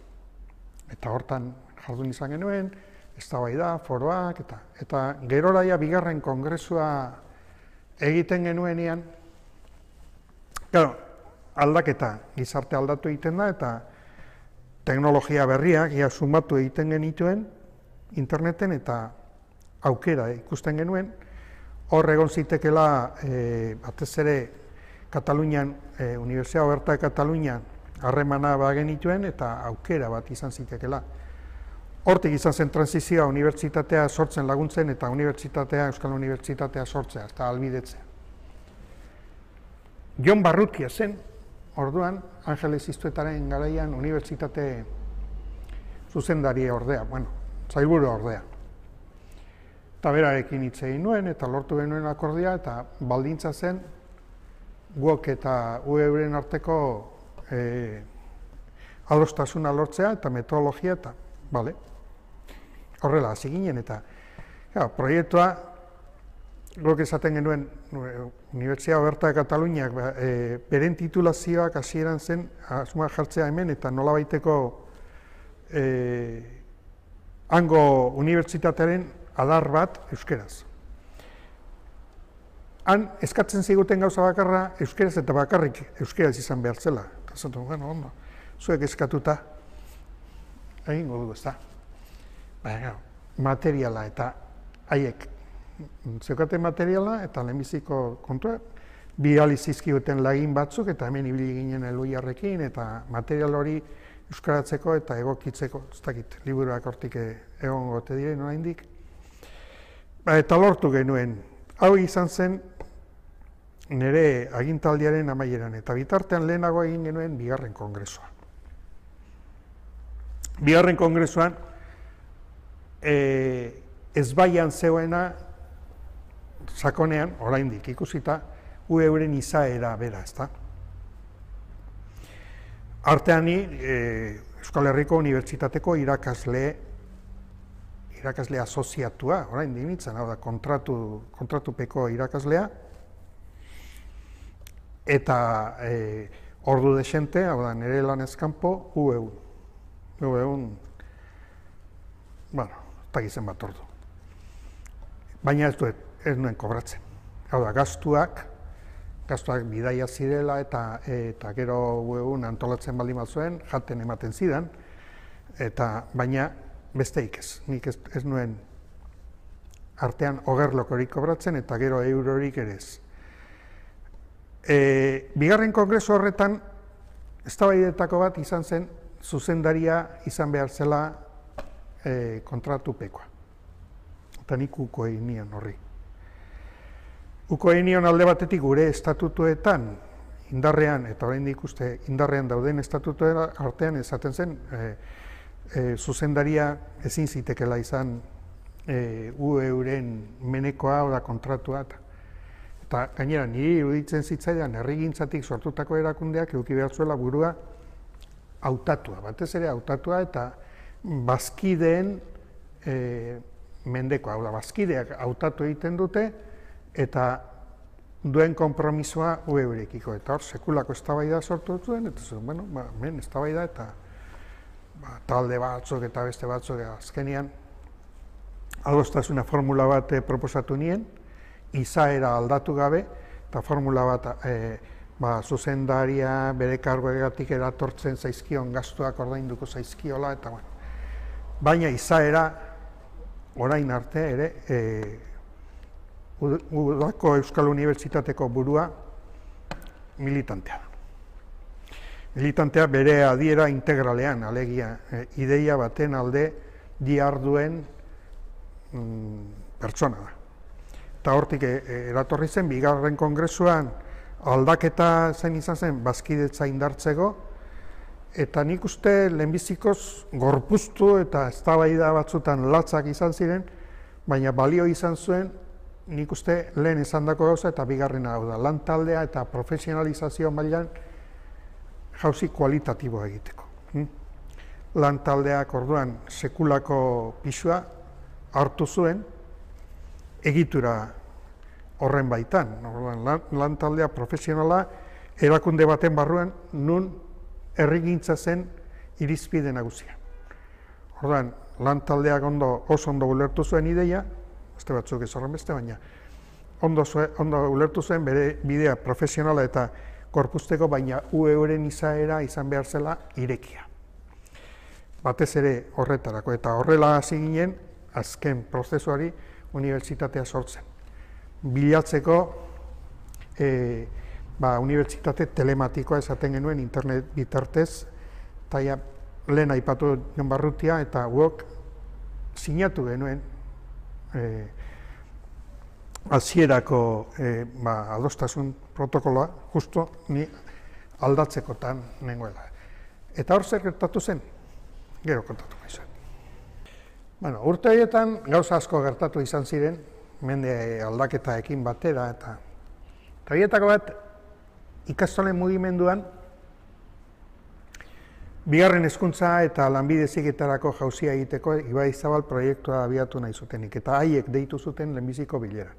Eta hortan jardun izan genuen, eztabaida, foroak, eta, eta geroraia bigarren kongresua egiten genuenean, claro, aldaketa, gizarte aldatu egiten da, eta teknologia berriak ia sumatu egiten genituen interneten, eta aukera ikusten genuen, hor egon zitekela e, batez ere Katalunian, e, Universidad Oberta de Katalunian harremana bagenituen, eta aukera bat izan zitekela. Hortik izan zen transizioa unibertsitatea sortzen laguntzen, eta unibertsitatea, Euskal Unibertsitatea sortzea, eta albidetzea. Jon Barrutia zen, orduan, Angeles Iztuetaren garaian unibertsitate zuzendari ordea, bueno, zailburu ordea. Eta berarekin hitz egin nuen, eta lortu genuen akordia, eta baldintza zen, guok eta U E uren arteko e, adostasuna lortzea, eta metodologia, eta, bale, horrela, hasi ginen, eta ja, proiektua, guk esaten genuen, Universidad Oberta de Kataluniak e, beren titulazioak hasieran zen, asmoa jartzea hemen, eta nolabaiteko e, hango unibertsitatearen adar bat euskeraz. Han eskatzen ziguten gauza bakarra euskeraz eta bakarrik euskeraz izan behar zela. Eta zaten, bueno, ondo, zuek eskatuta, egingo dugu ez da. Baina, materiala eta haiek zeukaten materiala eta lehenbiziko kontua, bi alizizkiguten lagin batzuk eta hemen ibili ginen Eloiarrekin eta material hori euskaratzeko eta egokitzeko, ez dakit, liburuak hortik egon gote diren oraindik. Ba, eta lortu genuen, hau izan zen nire agintaldiaren amaieran, eta bitartean lehenago egin genuen bigarren kongresua. Bigarren kongresuan e, ezbaian zegoena sakonean, oraindik ikusita, U E uren izaera bera, ezta? Artean ni e, Euskal Herriko Unibertsitateko irakasle irakasle asoziatua, orain dimitzen, hau da, kontratu, kontratupeko irakaslea, eta e, ordu desente, hau da, nire lanez kanpo, U E U. U E U, bueno, eta gizen bat ordu. Baina ez duet, ez nuen kobratzen. Hau da, gastuak, gastuak bidaia zirela, eta, eta gero U E U antolatzen baldin bat zuen, jaten ematen zidan, eta baina, besteik ez, nik ez, ez nuen artean ogerlokorik kobratzen eta gero eurorik ere ez. E, bigarren kongresu horretan, eztabaidetako bat izan zen, zuzendaria izan behar zela e, kontratupekoa. Eta nik uko egin nion horri. Uko egin nion alde batetik gure estatutuetan, indarrean, eta oraindik uste indarrean dauden estatutuen artean esaten zen, e, E, zuzendaria ezin zitekela izan e, U E uren menekoa oda kontratua. Eta gainera, niri iruditzen zitzaidan herrigintzatik sortutako erakundeak eduki behar zuela burua hautatua, batez ere hautatua eta bazkideen e, mendekoa. Hau da, bazkideak hautatu egiten dute eta duen konpromisoa U E urekiko. Eta hor, sekulako eztabaida sortu zuen, eta zuen, bueno, ba, men, eztabaida eta Ba, talde batzuk eta beste batzuk azkenean adostasuna formula bat e, proposatu nien, izaera aldatu gabe, eta formula bat e, ba, zuzendaria bere kargoegatik eratortzen zaizkion gastuak ordainduko zaizkiola, eta bueno. Baina izaera orain arte ere e, Udako Euskal Unibertsitateko burua militantea da. Militantea bere adiera integralean, alegia, e, ideia baten alde diharduen mm, pertsona da. Eta hortik e, eratorri zen, bigarren kongresuan aldaketa zen izan zen, bazkidetza indartzeko, eta nik uste lehenbizikoz gorpuztu eta eztabaida batzutan latzak izan ziren, baina balio izan zuen, nik uste lehen esandako gauza eta bigarrena hau da. Lan taldea eta profesionalizazio mailan jauzi kualitatiboa egiteko. Lan taldeak orduan sekulako pisua hartu zuen egitura horren baitan. Orduan, lan, lan taldea profesionala erakunde baten barruan nun herrigintza zen irizpide nagusia. Orduan, lan taldeak ondo, oso ondo ulertu zuen ideia, beste batzuk ez horren beste, baina ondo, zue, ondo ulertu zuen bere bidea profesionala eta korpusteko, baina U E uren izaera izan behar zela irekia. Batez ere horretarako, eta horrela hasi ginen azken prozesuari unibertsitatea sortzen. Bilatzeko e, ba, unibertsitate telematikoa esaten genuen internet bitartez, eta ja, lehen aipatu Jon Barrutia eta guk sinatu genuen e, hasierako e, ba, adostasun protokoloa justo ni aldatzekotan nengoela. Eta hor zer gertatu zen? Gero kontatu maizuet. Bueno, urte horietan gauza asko gertatu izan ziren, mende aldaketaekin batera, eta horietako bat ikastolen mugimenduan bigarren hezkuntza eta lanbide heziketarako jauzia egiteko Ibaizabal proiektua abiatu nahi zutenik, eta haiek deitu zuten lehenbiziko bilera.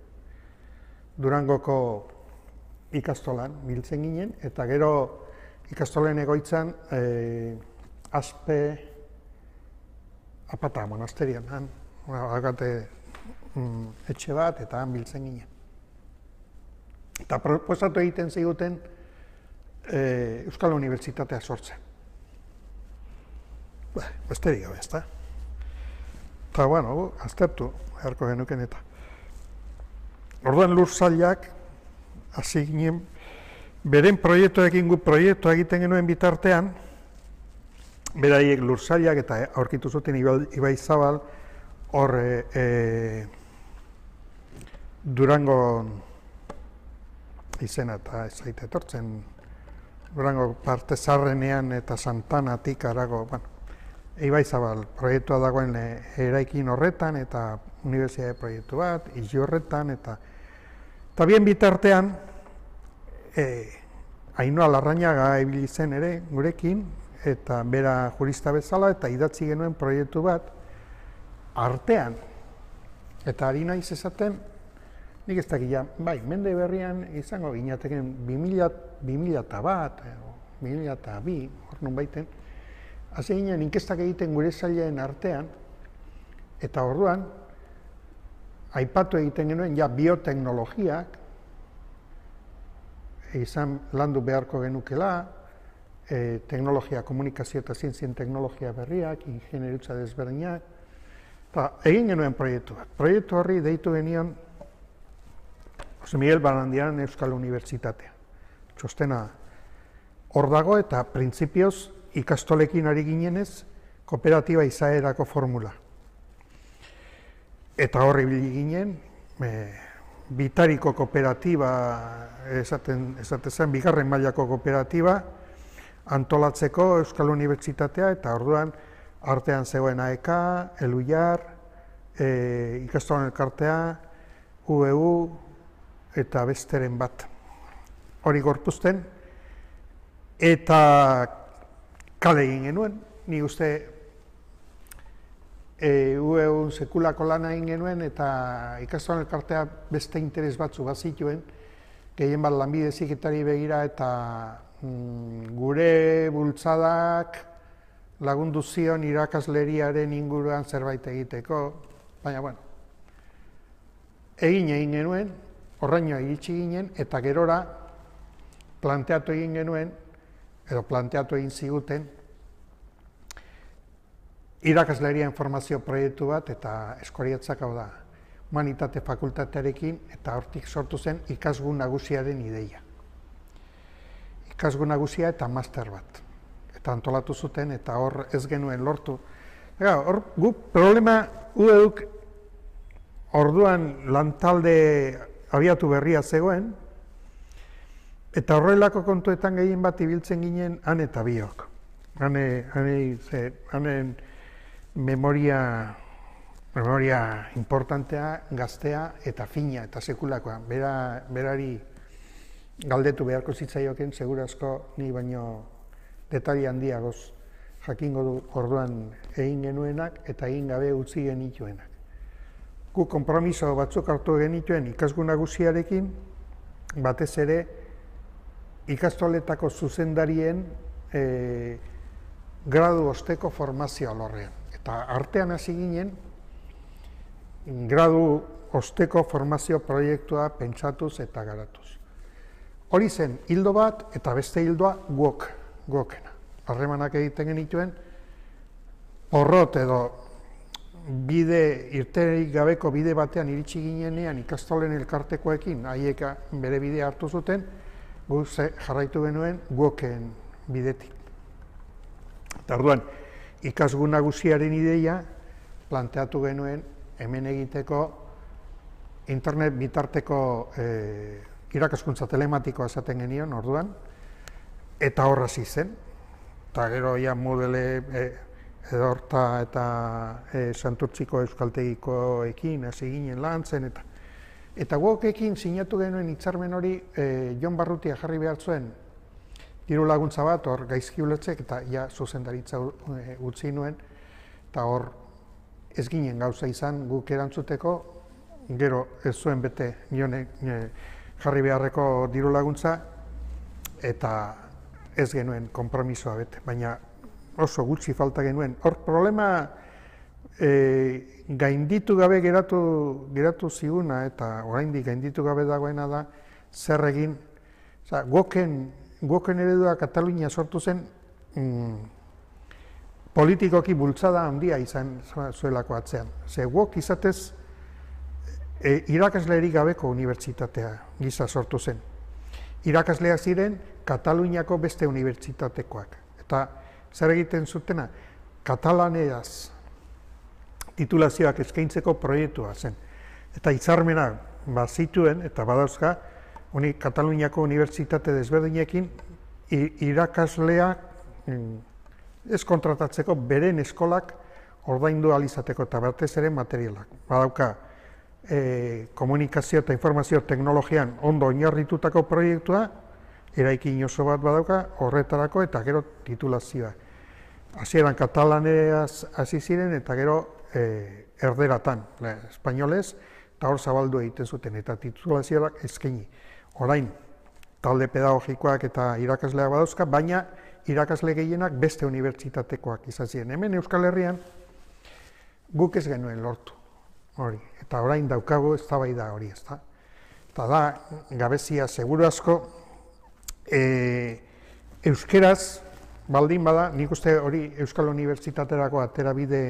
Durangoko ikastolan biltzen ginen, eta gero ikastolen egoitzan e, Aspe Apata monasterian, han, agate mm, etxe bat, eta han biltzen ginen. Eta proposatu egiten ziguten e, Euskal Unibertsitatea sortzen. Ba, besterik gabe, ezta? Eta, bueno, aztertu, beharko genuken eta. Orduan lur sailak, hasi ginen, beren proiektuekin gu proiektua egiten genuen bitartean, beraiek lur sailak eta aurkitu zuten Ibaizabal hor e, e, Durangon izena eta ez zaite etortzen, Durango parte zarrenean eta Santanatik harago, bueno, Ibaizabal proiektua dagoen eraikin horretan eta unibertsitate proiektu bat, izi horretan, eta eta bien bitartean e, Ainhoa Larrañaga ibili zen ere gurekin, eta bera jurista bezala, eta idatzi genuen proiektu bat artean. Eta ari naiz esaten, nik ez dakila, bai, mende berrian izango ginateken bi mila eta bat, bi mila eta bi, hor nun baiten, hasi ginen inkestak egiten gure sailen artean, eta orduan, aipatu egiten genuen, ja bioteknologiak, izan landu beharko genukela, E, teknologia, komunikazio eta zientzien teknologia berriak, ingenieritza desberdinak, eta egin genuen proiektu bat. Proiektu horri deitu genion Jose Miguel Barandiaran Euskal Unibertsitatea. Txostena hor dago eta printzipioz ikastolekin ari ginenez kooperatiba izaerako formula. Eta horri ibili ginen, e, bitariko kooperatiba, esaten, esaten zen, bigarren mailako kooperatiba, antolatzeko Euskal Unibertsitatea, eta orduan artean zegoen A E K, Eluiar, e, ikastolen elkartea, U E U eta besteren bat. Hori gorpuzten, eta kale egin genuen, ni uste e, U E U sekulako lana egin genuen, eta ikastolen elkartea beste interes batzu bazituen, gehien bat lanbide heziketari begira eta gure bultzadak lagundu zion irakasleriaren inguruan zerbait egiteko, baina, bueno, egin egin genuen, horraino iritsi ginen, eta gerora planteatu egin genuen, edo planteatu egin ziguten, irakasleria informazio proiektu bat, eta Eskoriatzak hau da, humanitate fakultatearekin, eta hortik sortu zen ikasgun nagusiaren ideia. Ikasgun nagusia eta master bat. Eta antolatu zuten, eta hor ez genuen lortu. Ega, hor, gu problema U E Uk orduan lantalde abiatu berria zegoen, eta horrelako kontuetan gehien bat ibiltzen ginen han eta biok. Hane, hane, ze, hanen memoria, memoria importantea, gaztea eta fina eta sekulakoa. Bera, berari galdetu beharko zitzaioken, segurazko ni baino detaile handiagoz jakingo du orduan egin genuenak eta egin gabe utzi genituenak. Gu konpromiso batzuk hartu genituen ikasgun nagusiarekin, batez ere ikastoletako zuzendarien e, gradu osteko formazio alorrean. Eta artean hasi ginen, gradu osteko formazio proiektua pentsatuz eta garatuz. Hori zen hildo bat eta beste hildoa guok, guokena. Harremanak egiten genituen, porrot edo bide, irterik gabeko bide batean iritsi ginenean ikastolen elkartekoekin, haiek bere bidea hartu zuten, gu jarraitu genuen guoken bidetik. Eta orduan, ikasgun nagusiaren ideia planteatu genuen hemen egiteko internet bitarteko eh, irakaskuntza telematikoa esaten genion orduan, eta horra hasi zen. Eta gero ja modele eh, edorta eta e, Santurtziko euskaltegikoekin hasi ginen lantzen eta eta guokekin sinatu genuen hitzarmen hori e, Jon Barrutia jarri behar zuen diru laguntza bat hor gaizki ulertzek eta ja zuzendaritza e, utzi nuen eta hor ez ginen gauza izan guk erantzuteko gero ez zuen bete Jonek e, jarri beharreko diru laguntza eta ez genuen konpromisoa bete, baina oso gutxi falta genuen. Hor problema e, gainditu gabe geratu, geratu ziguna eta oraindik gainditu gabe dagoena da zer egin. Oza, guoken, guoken eredua Katalunia sortu zen mm, politikoki bultzada handia izan zuelako atzean. Ze guok izatez e, irakaslerik gabeko unibertsitatea gisa sortu zen. Irakasleak ziren Kataluniako beste unibertsitatekoak. Eta zer egiten zutena, katalaneaz titulazioak eskaintzeko proiektua zen. Eta hitzarmena bazituen, eta badauzka, uni, Kataluniako unibertsitate desberdinekin irakasleak ez kontratatzeko beren eskolak ordaindu ahal izateko eta batez ere materialak. Badauka, e, komunikazio eta informazio teknologian ondo oinarritutako proiektua, eraikin oso bat badauka, horretarako eta gero titulazioa. Hasieran katalaneaz hasi ziren eta gero e, erderatan, le, espainolez, eta hor zabaldu egiten zuten eta titulazioak eskaini. Orain, talde pedagogikoak eta irakasleak badauzka, baina irakasle gehienak beste unibertsitatekoak izan ziren. Hemen Euskal Herrian guk ez genuen lortu hori, eta orain daukagu eztabaida hori, ezta. Eta da, gabezia seguru asko, e, euskeraz, baldin bada, nik uste hori Euskal Unibertsitaterako aterabide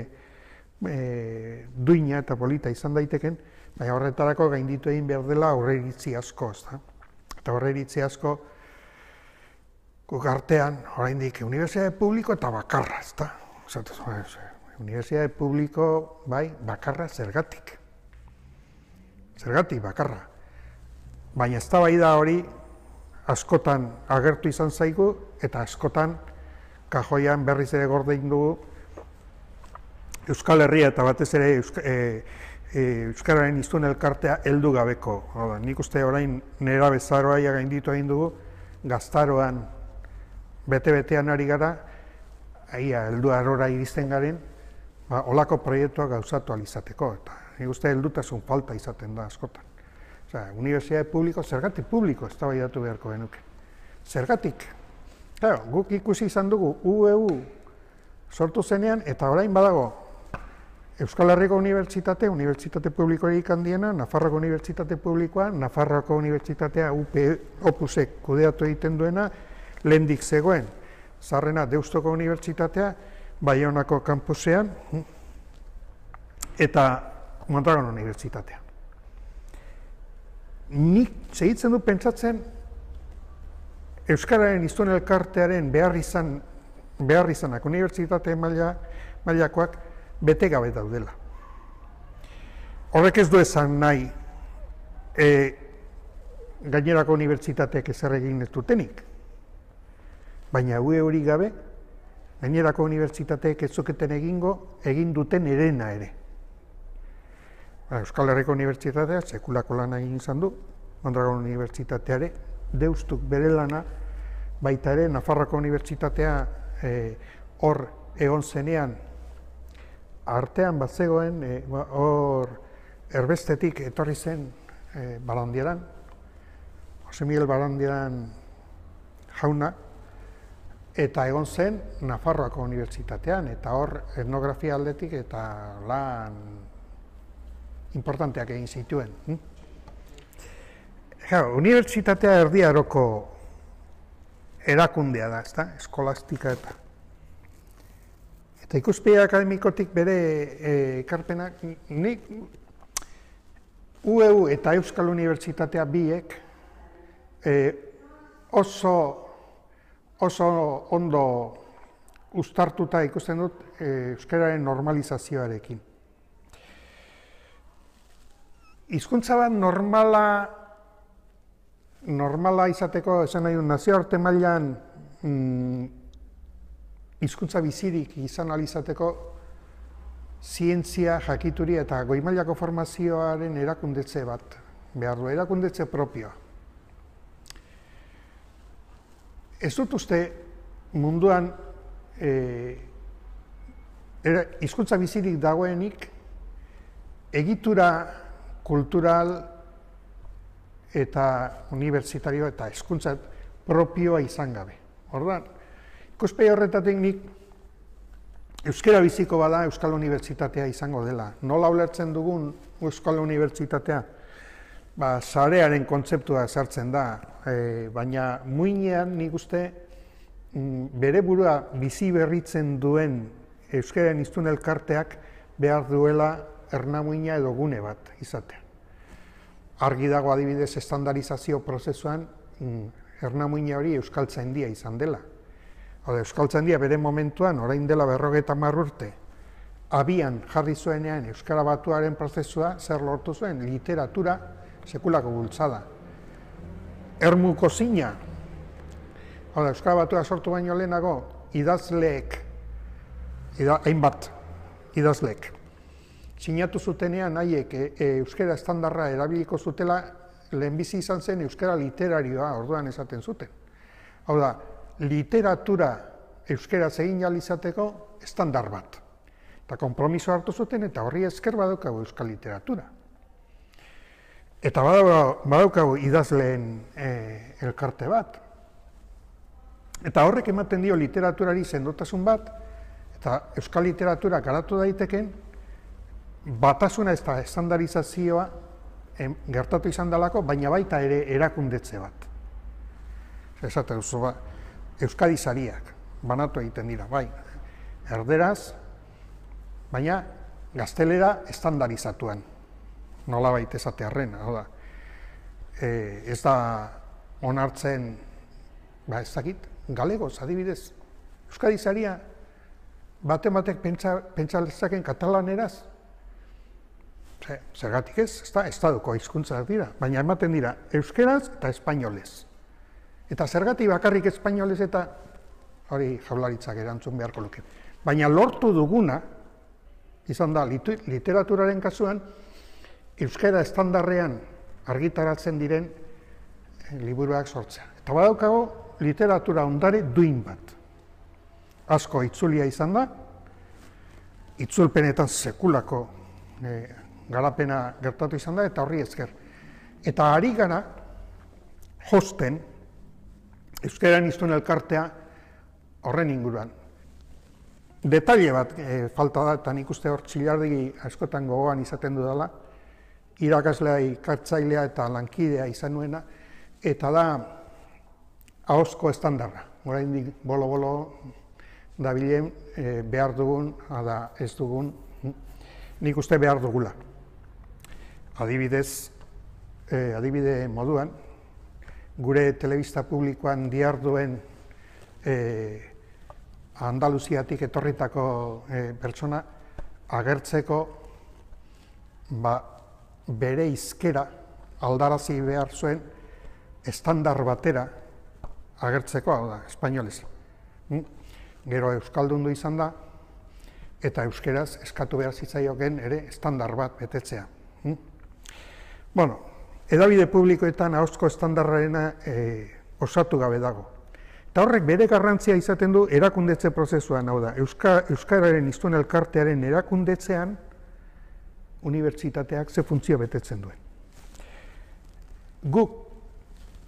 e, duina eta polita izan daiteken, baina horretarako gainditu egin behar dela aurreiritzi asko, ezta. Eta aurreiritzi asko, guk artean, oraindik unibertsitate publiko eta bakarra, ezta. Unibertsitate publiko, bai, bakarra zergatik. Zergatik, bakarra. Baina eztabaida hori askotan agertu izan zaigu eta askotan kajoian berriz ere gordein dugu Euskal Herria eta batez ere Euska, e, e, Euskararen hiztun elkartea heldu gabeko. Oda, nik uste orain nera bezaroa gainditu egin dugu, gaztaroan bete-betean ari gara, aia heldu arora iristen garen, ba, olako proiektua gauzatu alizateko. Eta nik uste heldutasun falta izaten da askotan. Osea, unibertsitate publiko, zergatik publiko eztabaidatu beharko genuke. Zergatik. Claro, guk ikusi izan dugu U E U sortu zenean eta orain badago Euskal Herriko Unibertsitate, Unibertsitate Publikorik handiena, Nafarroko Unibertsitate Publikoa, Nafarroko Unibertsitatea U P Opusek kudeatu egiten duena, lehendik zegoen, zarrena Deustoko Unibertsitatea, Baionako kampusean, eta Mondragon Unibertsitatea. Nik segitzen du pentsatzen Euskararen hiztun elkartearen behar izan, behar izanak unibertsitate maila, mailakoak bete gabe daudela. Horrek ez du esan nahi e, gainerako unibertsitateek ezer egin ez dutenik. Baina U E hori gabe, gainerako unibertsitateek ez zuketen egingo, egin duten erena ere. Euskal Herriko Unibertsitatea sekulako lana egin izan du, Mondragon Unibertsitateare, Deustuk bere lana baita ere, Nafarroako Unibertsitatea hor egon zenean, artean bat zegoen, hor erbestetik etorri zen Barandieran, Jose Miguel Barandieran jauna, eta egon zen Nafarroako Unibertsitatean, eta hor etnografia aldetik eta lan importanteak egin zituen. Unibertsitatea Erdi Aroko erakundea da, ezta? Eskolastika eta. Eta ikuspegi akademikotik bere ekarpenak, nik U E U eta Euskal Unibertsitatea biek oso oso ondo uztartuta ikusten dut euskararen normalizazioarekin. Hizkuntza bat normala normala izateko, esan nahi du, nazioarte mailan hizkuntza bizirik izan ahal izateko zientzia, jakituri eta goi mailako formazioaren erakundetze bat behar du, erakundetze propioa. Ez dut uste munduan hizkuntza bizirik dagoenik egitura kultural eta unibertsitario eta hizkuntza propioa izan gabe. Orduan, ikuspegi horretatik nik euskara biziko bada Euskal Unibertsitatea izango dela. Nola ulertzen dugun Euskal Unibertsitatea? Ba, sarearen kontzeptua sartzen da, baina muinean nik uste bere burua bizi berritzen duen euskararen hiztun elkarteak behar duela ernamuina edo gune bat izatea. Argi dago adibidez estandarizazio prozesuan ernamuina hori euskaltzaindia izan dela. Euskaltzaindia bere momentuan, orain dela berrogeita hamar urte, abian jarri zuenean euskara batuaren prozesua zer lortu zuen, literatura sekulako bultzada. Ermuko zina, euskara batua sortu baino lehenago, idazleek, hainbat idazleek, sinatu zutenean haiek euskara estandarra erabiliko zutela, lehenbizi izan zen euskara literarioa orduan esaten zuten. Hau da, literatura euskara egin ahal izateko estandar bat. Eta konpromiso hartu zuten eta horri esker badaukagu euskal literatura. Eta badaukagu idazleen elkarte bat. Eta horrek ematen dio literaturari sendotasun bat, eta euskal literatura garatu daiteken, batasuna ez da estandarizazioa gertatu izan dalako, baina baita ere erakundetze bat. Esaten duzu, ba, Euskadi sariak banatu egiten dira, bai, erderaz, baina gaztelera estandarizatuan, nola baita esatearren, hau da. Ez da onartzen, ba ez dakit, galegoz, adibidez, Euskadi saria bate-batek pentsa lezaken katalaneraz, zergatik ez, ez da, estaduko hizkuntzak dira, baina ematen dira euskeraz eta espainolez. Eta zergatik bakarrik espainolez eta hori jaurlaritzak erantzun beharko luke. Baina lortu duguna, izan da, literaturaren kasuan, euskara estandarrean argitaratzen diren liburuak sortzea. Eta badaukago literatura ondare duin bat. Asko itzulia izan da, itzulpenetan sekulako garapena gertatu izan da, eta horri esker. Eta ari gara, josten, euskararen hiztun elkartea horren inguruan. Detaile bat falta da, eta nik uste hor txilardegi askotan gogoan izaten dudala, irakaslea, ikartzailea eta lankidea izan nuena, eta da ahozko estandarra. Oraindik bolo-bolo dabilen behar dugun, ada ez dugun, nik uste behar dugula. Adibidez, adibide moduan, gure telebista publikoan diharduen Andaluziatik etorritako pertsona agertzeko bere hizkera aldarazi behar zuen estandar batera agertzeko, hau da, espainolez. Gero euskaldundu izan da, eta euskeraz eskatu behar zitzaioken ere estandar bat betetzea. Bueno, hedabide publikoetan ahozko estandarrarena osatu gabe dago. Eta horrek bere garrantzia izaten du erakundetze prozesuan, hau da, Euska, Euskararen hiztun elkartearen erakundetzean unibertsitateak ze funtzio betetzen duen. Guk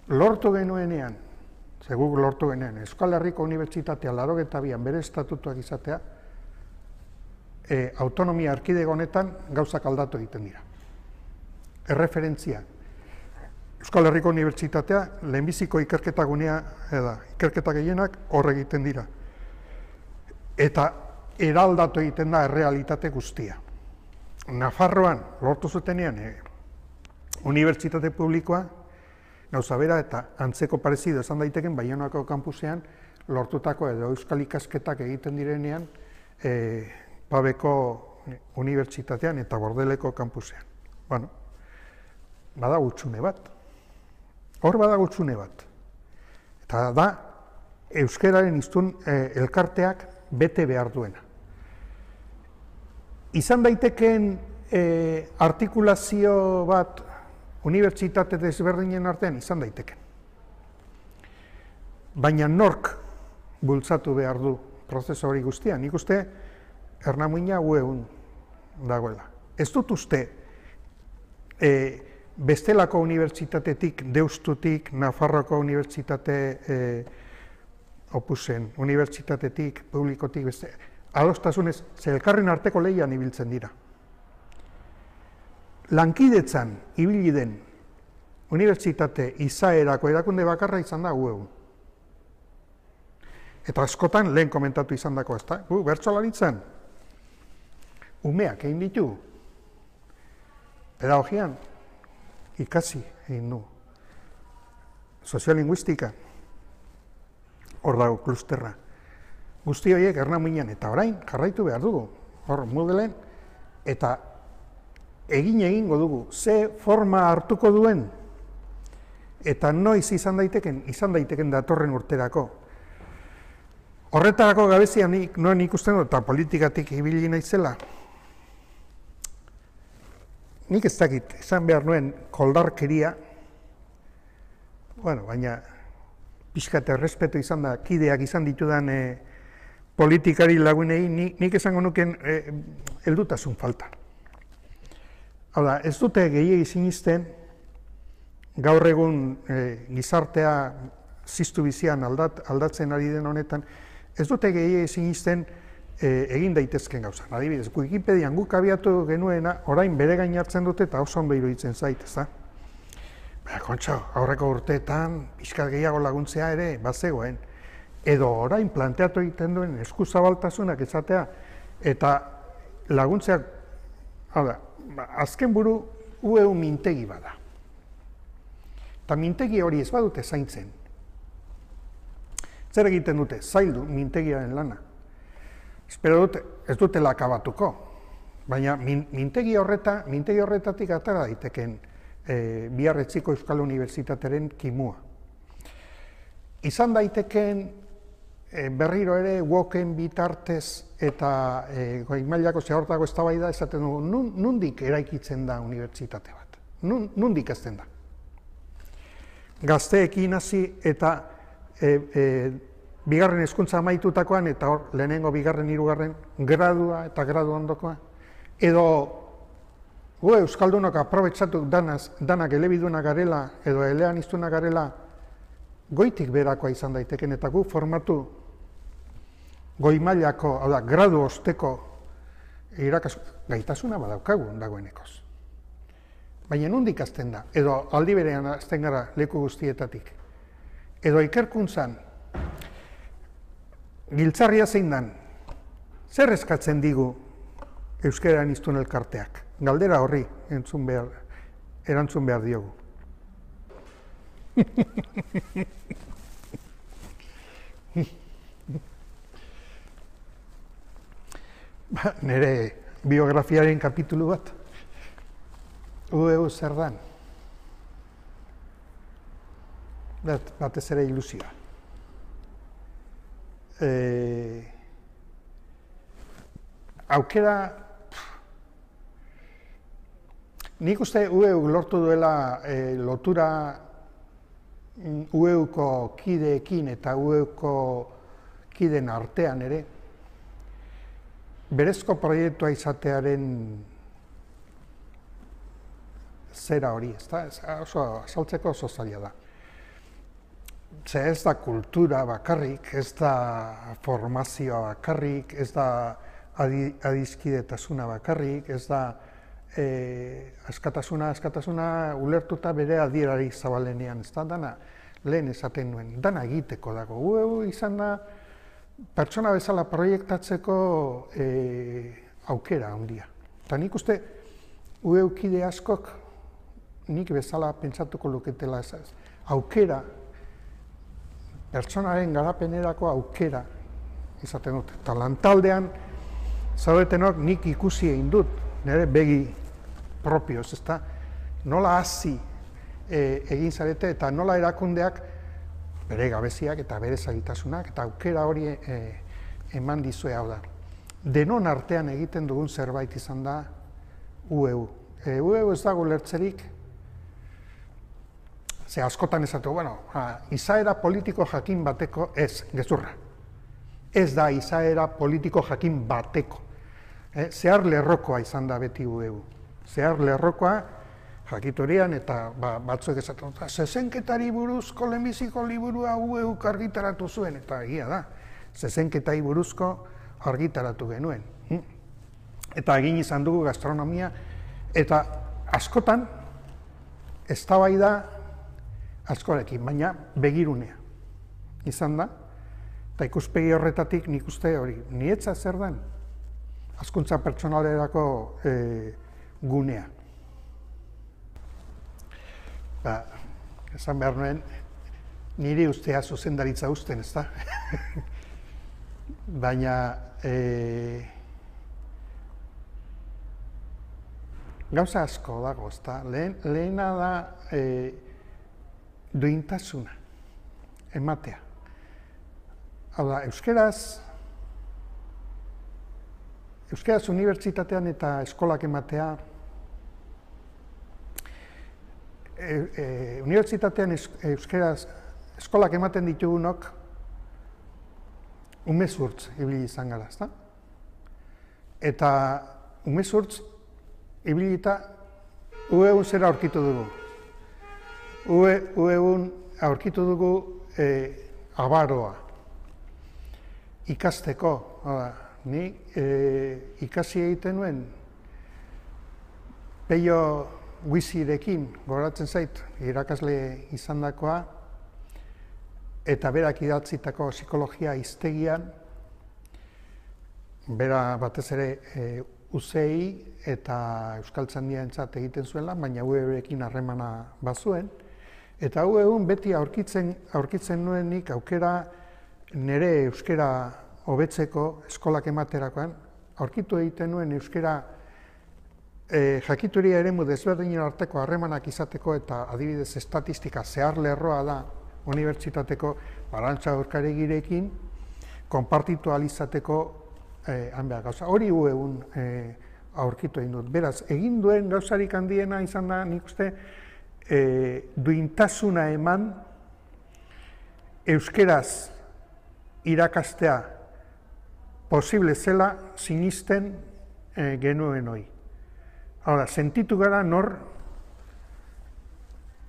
lortu genuenean, ze guk lortu genuenean, Euskal Herriko Unibertsitatea laurogeita bian bere estatutuak izatea, e, autonomia erkidego honetan gauzak aldatu egiten dira. Erreferentzia. Euskal Herriko Unibertsitatea lehenbiziko ikerketa gunea, eda, ikerketa gehienak hor egiten dira. Eta eraldatu egiten da errealitate guztia. Nafarroan, lortu zutenean, e, unibertsitate publikoa, gauza bera eta antzeko parezido esan daiteken Baionako kampusean lortutako edo euskal ikasketak egiten direnean e, Pabeko unibertsitatean eta Bordeleko kampusean. Bueno, bada gutxune bat. Hor bada gutxune bat. Eta da, euskararen hiztun e, elkarteak bete behar duena. Izan daitekeen e, artikulazio bat unibertsitate desberdinen artean izan daiteken. Baina nork bultzatu behar du prozesu hori guztia. Nik uste Ernamuina ueun dagoela. Ez dut uste e, bestelako unibertsitatetik, Deustutik, Nafarroko unibertsitate e, opusen, unibertsitatetik, publikotik, beste, adostasunez, ze elkarren arteko lehian ibiltzen dira. Lankidetzan ibili den unibertsitate izaerako erakunde bakarra izan da ueun. Eta askotan lehen komentatu izan dako, ez da? Gu, bertsolaritzan, umeak egin ditu, pedagogian, ikasi egin du, soziolinguistika, hor dago klusterra. Guzti horiek Ernamuinan eta orain jarraitu behar dugu, hor Moodleen, eta egin egingo dugu, ze forma hartuko duen, eta noiz izan daiteken, izan daiteken datorren urterako. Horretarako gabezia nik, noen ikusten dut, eta politikatik ibili naizela. Nik ez dakit, izan behar nuen koldarkeria, bueno, baina pixka eta errespetu izan da, kideak izan ditudan e, politikari lagunei, nik, nik esango nuken e, heldutasun falta. Hau da, ez dute gehiegi sinisten, gaur egun e, gizartea ziztu bizian aldat, aldatzen ari den honetan, ez dute gehiegi sinisten e, egin daitezken gauza. Adibidez, Wikipedian guk abiatu genuena, orain bere gain hartzen dute eta oso ondo iruditzen zait, ez da? Baina, kontxo, aurreko urteetan, pixkat gehiago laguntzea ere, bazegoen. Edo orain planteatu egiten duen eskuzabaltasunak esatea, eta laguntzeak, hau da, azken buru ueu mintegi bada. Eta mintegi hori ez badute zaintzen. Zer egiten dute? Zaildu mintegiaren lana. Espero dute, ez dutela akabatuko. Baina mintegi horreta, mintegi horretatik atara daiteken e, Biarritziko Euskal Unibertsitatearen kimua. Izan daiteken e, berriro ere woken bitartez eta e, goi mailako zehortako eztabaida esaten dugu, nun, nundik eraikitzen da unibertsitate bat? Nun, nundik ezten da? Gazteekin hasi eta e, e, bigarren hezkuntza amaitutakoan eta hor lehenengo, bigarren, hirugarren gradua eta gradu ondokoa. Edo gu euskaldunok aprobetxatu danaz, danak elebiduna garela edo eleaniztuna garela goitik berakoa izan daiteken eta gu formatu goi mailako, hau da, gradu osteko irakasu, gaitasuna badaukagu dagoenekoz. Baina nondik hasten da, edo aldi berean hasten gara leku guztietatik. Edo ikerkuntzan, giltzarria zein dan, zer eskatzen digu euskararen hiztun elkarteak? Galdera horri entzun behar, erantzun behar diogu. Ba, nire biografiaren kapitulu bat, ueu zer dan. Bat, batez ere ilusioa. E, aukera, nik uste ueu lortu duela e, lotura U E-ko kideekin eta U E-ko kideen artean ere, berezko proiektua izatearen zera hori, ez da? Oso azaltzeko oso zaila da. Ze ez da kultura bakarrik, ez da formazioa bakarrik, ez da adiskidetasuna bakarrik, ez da askatasuna, askatasuna ulertuta bere adierari zabalenean, ez da, dana lehen esaten nuen, dana egiteko dago. U E izan da, pertsona bezala proiektatzeko aukera handia. Eta nik uste, U E kide askok, nik bezala pentsatuko luketela ez, aukera, pertsonaren garapenerako aukera izaten dut. Eta lantaldean, zaudetenok nik ikusi egin dut, nire begi propioz, ezta? Nola hasi egin zarete eta nola erakundeak bere gabeziak eta bere zailtasunak eta aukera hori eman dizue hau da. Denon artean egiten dugun zerbait izan da U E U. U E U ez dago lertzerik, ze askotan esatu, bueno, izaera politiko jakin bateko ez, gezurra. Ez da izaera politiko jakin bateko. Zehar lerrokoa izan da beti U E U. Zehar lerrokoa jakitorian eta batzuek esatu. Zezenketari buruzko lehenbiziko liburua U E U argitaratu zuen, eta egia da. Zezenketari buruzko argitaratu genuen. Eta egin izan dugu gastronomia, eta askotan eztabaida askorekin, baina begirunea izan da, eta ikuspegi horretatik nik uste hori, nietza zer den, hazkuntza pertsonalerako gunea. Esan behar nuen, niri ustea zuzendaritza usten, ez da? Baina, gauza asko dago, ez da? Lehena da duintasuna, ematea. Hau da, euskeraz, euskeraz unibertsitatean eta eskolak ematea, unibertsitatean euskeraz eskolak ematen ditugunok umezurtz ibili izan gara, ezta? Eta umezurtz ibilita U E-un zera aurkitu dugu. U E-un aurkitu dugu abaroa ikasteko. Ni ikasi egiten nuen Peio Guizirekin, goratzen zait, irakasle izandakoa, eta berak idatzitako psikologia hiztegian, bera batez ere U C I eta Euskaltzaindiarentzat egiten zuela, baina U E-rekin harremana bazuen, eta U E-un beti aurkitzen aurkitzen nuenik aukera nire euskera hobetzeko eskolak ematerakoan, aurkitu egiten nuen euskera jakituria eremu desberdinen arteko harremanak izateko eta adibidez estatistika zehar lerroa da unibertsitateko Arantxa Urkaregirekin konpartitu ahal izateko hanbeak gauza. Hori U E-un aurkitu egin dut. Beraz, egin duen gauzarik handiena izan da, nik uste, duintasuna eman euskeraz irakastea posible zela sinisten genuen hori. Hora, sentitu gara nor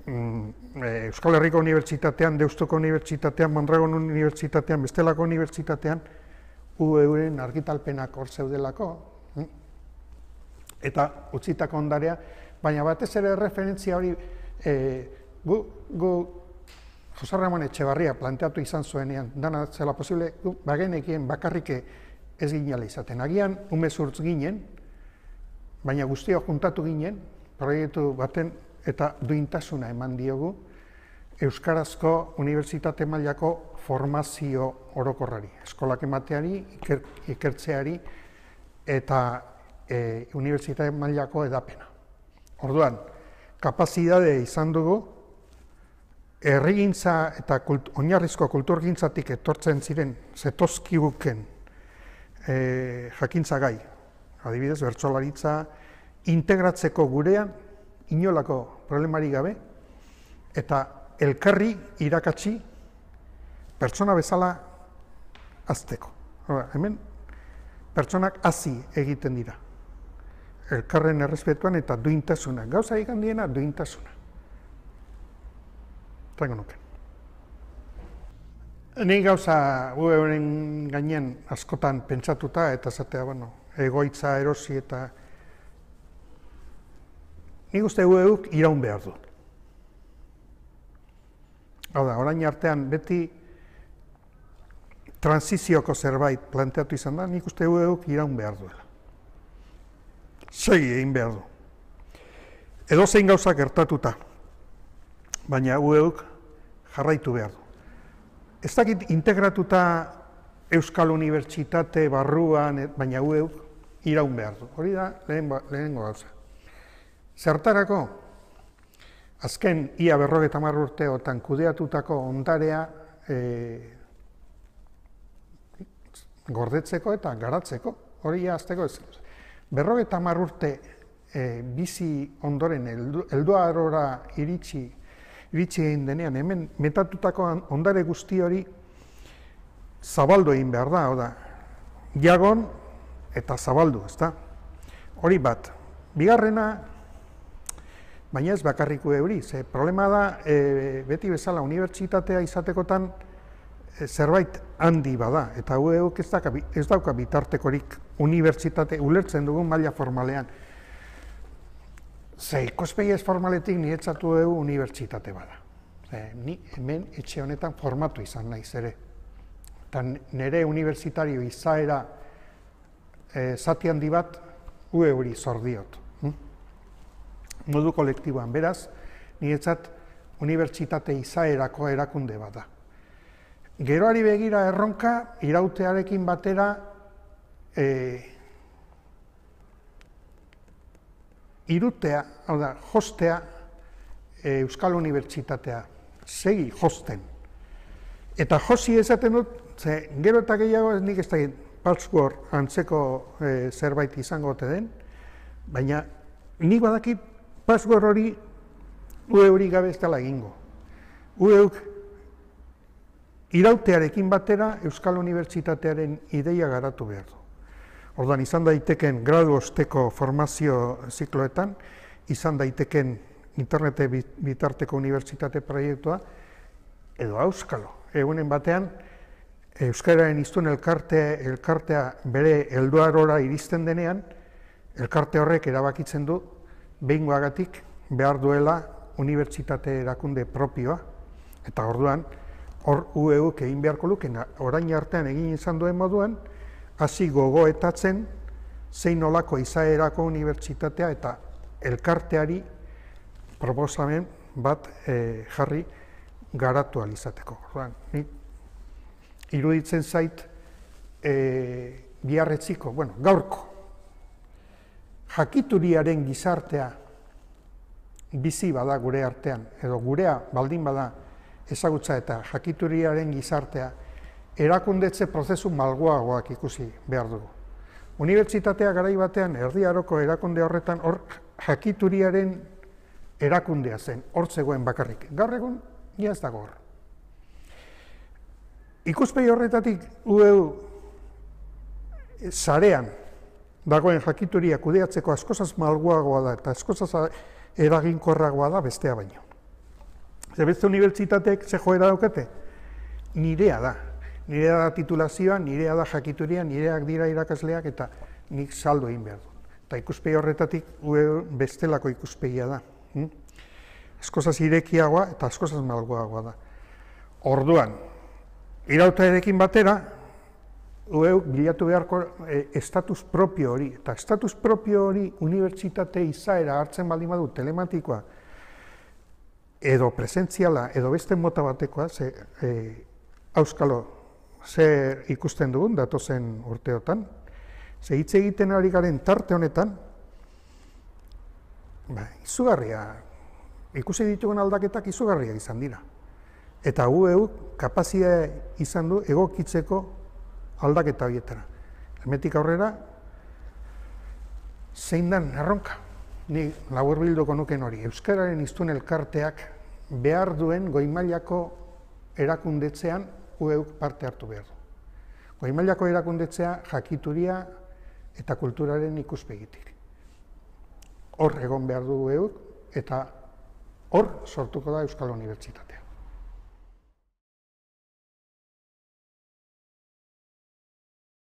Euskal Herriko Unibertsitatean, Deustuko Unibertsitatean, Mondragon Unibertsitatean, bestelako unibertsitatean U E-ren argitalpenak hor zeudelako eta utzitako ondarea, baina batez ere referentzia hori gu Jose Ramon Etxebarria planteatu izan zuenean, dana zela posible, bagenekien bakarrik ez ginela izaten. Agian umezurtz ginen, baina guztiok juntatu ginen, proiektu baten eta duintasuna eman diogu euskarazko unibertsitate mailako formazio orokorrari, eskolak emateari, ikertzeari eta unibertsitate mailako edapena. Orduan, kapazidade izan dugu, herrigintza eta oinarrizko kulturgintzatik etortzen ziren zetozkiguken jakintza gai, adibidez, bertsolaritza, integratzeko gurean inolako problemari gabe, eta elkarri irakatsi pertsona bezala hazteko. Hemen pertsonak hazi egiten dira. Elkarren errespetuan eta duintasuna. Gauza egin diena duintasuna. Trango nuke. Ni gauza U E U-ren gainen askotan pentsatuta eta zatea, bueno, egoitza erosi eta nik uste U E U-k iraun behar du. Hau da, orain artean beti transizioko zerbait planteatu izan da, nik uste U E U-k iraun behar duela. Segi egin behar du. Edo zein gauza gertatuta, baina U E U-k jarraitu behar du. Ez dakit integratuta Euskal Unibertsitate barruan, baina U E U-k iraun behar du. Hori da lehenengo gauza. Zertarako, azken ia berrogeita hamar urteotan kudeatutako ondarea e, gordetzeko eta garatzeko, hori azteko ez. Berrogeita hamar urte e, bizi ondoren helduarora iritsi, iritsi egin denean, hemen metatutako ondare guzti hori zabaldu egin behar da, hau da, jagon eta zabaldu, ezta? Hori bat. Bigarrena, baina ez bakarrik U E U-ri, ze problema da, e, beti bezala unibertsitatea izatekotan e, zerbait handi bada, eta U E U-k ez, ez dauka bitartekorik unibertsitate ulertzen dugun maila formalean. Ze, ikuspegi ez formaletik niretzat U E U unibertsitate bada. Ze, ni hemen etxe honetan formatu izan naiz ere. Eta nire unibertsitario izaera e, zati handi bat U E U-ri zor diot. Hm? Modu kolektiboan, beraz, niretzat unibertsitate izaerako erakunde bat da. Geroari begira erronka, irautearekin batera e, irutea, hau da, jostea e, Euskal Unibertsitatea, segi josten. Eta josi esaten dut, ze, gero eta gehiago nik ez da password antzeko e, zerbait izango ote den, baina nik badakit password hori U E U-ri gabe ez dela egingo. U E U-k irautearekin batera Euskal Unibertsitatearen ideia garatu behar du. Orduan, izan daiteken gradu osteko formazio zikloetan, izan daiteken internete bitarteko unibertsitate proiektua, edo auskalo. Egunen batean, Euskararen hiztun elkarte, elkartea bere helduarora iristen denean, elkarte horrek erabakitzen du, behingoagatik behar duela unibertsitate erakunde propioa, eta orduan, hor U E U-k egin beharko luken, orain artean egin izan duen moduan, hasi gogoetatzen zein nolako izaerako unibertsitatea eta elkarteari proposamen bat e, jarri garatu alizateko. Orduan, ni iruditzen zait e, biharretziko, bueno, gaurko, jakituriaren gizartea bizi bada gure artean, edo gurea baldin bada ezagutza eta jakituriaren gizartea, erakundetze prozesu malguagoak ikusi behar dugu. Unibertsitatea garai batean, Erdi Aroko erakunde horretan, hor jakituriaren erakundea zen, hor zegoen bakarrik. Gaur egun, ja ez dago hor. Ikuspegi horretatik U E U sarean dagoen jakituria kudeatzeko askozaz malguagoa da eta askozaz eraginkorragoa da bestea baino. Ze beste unibertsitateek ze joera daukate? Nirea da. Nirea da titulazioa, nirea da jakituria, nireak dira irakasleak eta nik saldo egin behar du. Eta ikuspegi horretatik U E U bestelako ikuspegia da. Hm? Askozaz irekiagoa eta askozaz malguagoa da. Orduan, irautarekin batera, U E U bilatu beharko e, estatus propio hori, eta estatus propio hori unibertsitate izaera hartzen baldin badu telematikoa, edo presentziala, edo beste mota batekoa, ze, e, auskalo, zer ikusten dugun datozen urteotan, ze hitz egiten ari garen tarte honetan, ba, izugarria, ikusi ditugun aldaketak izugarria izan dira. Eta U E U kapazia izan du egokitzeko aldaketa horietara. Hemetik aurrera, zein den erronka. Ni labur bilduko nuken hori. Euskararen hiztun elkarteak behar duen goi-mailako erakundetzean U E Uk parte hartu behar du. Goi-mailako erakundetzea jakituria eta kulturaren ikuspegitik. Hor egon behar du U E Uk eta hor sortuko da Euskal Unibertsitatea.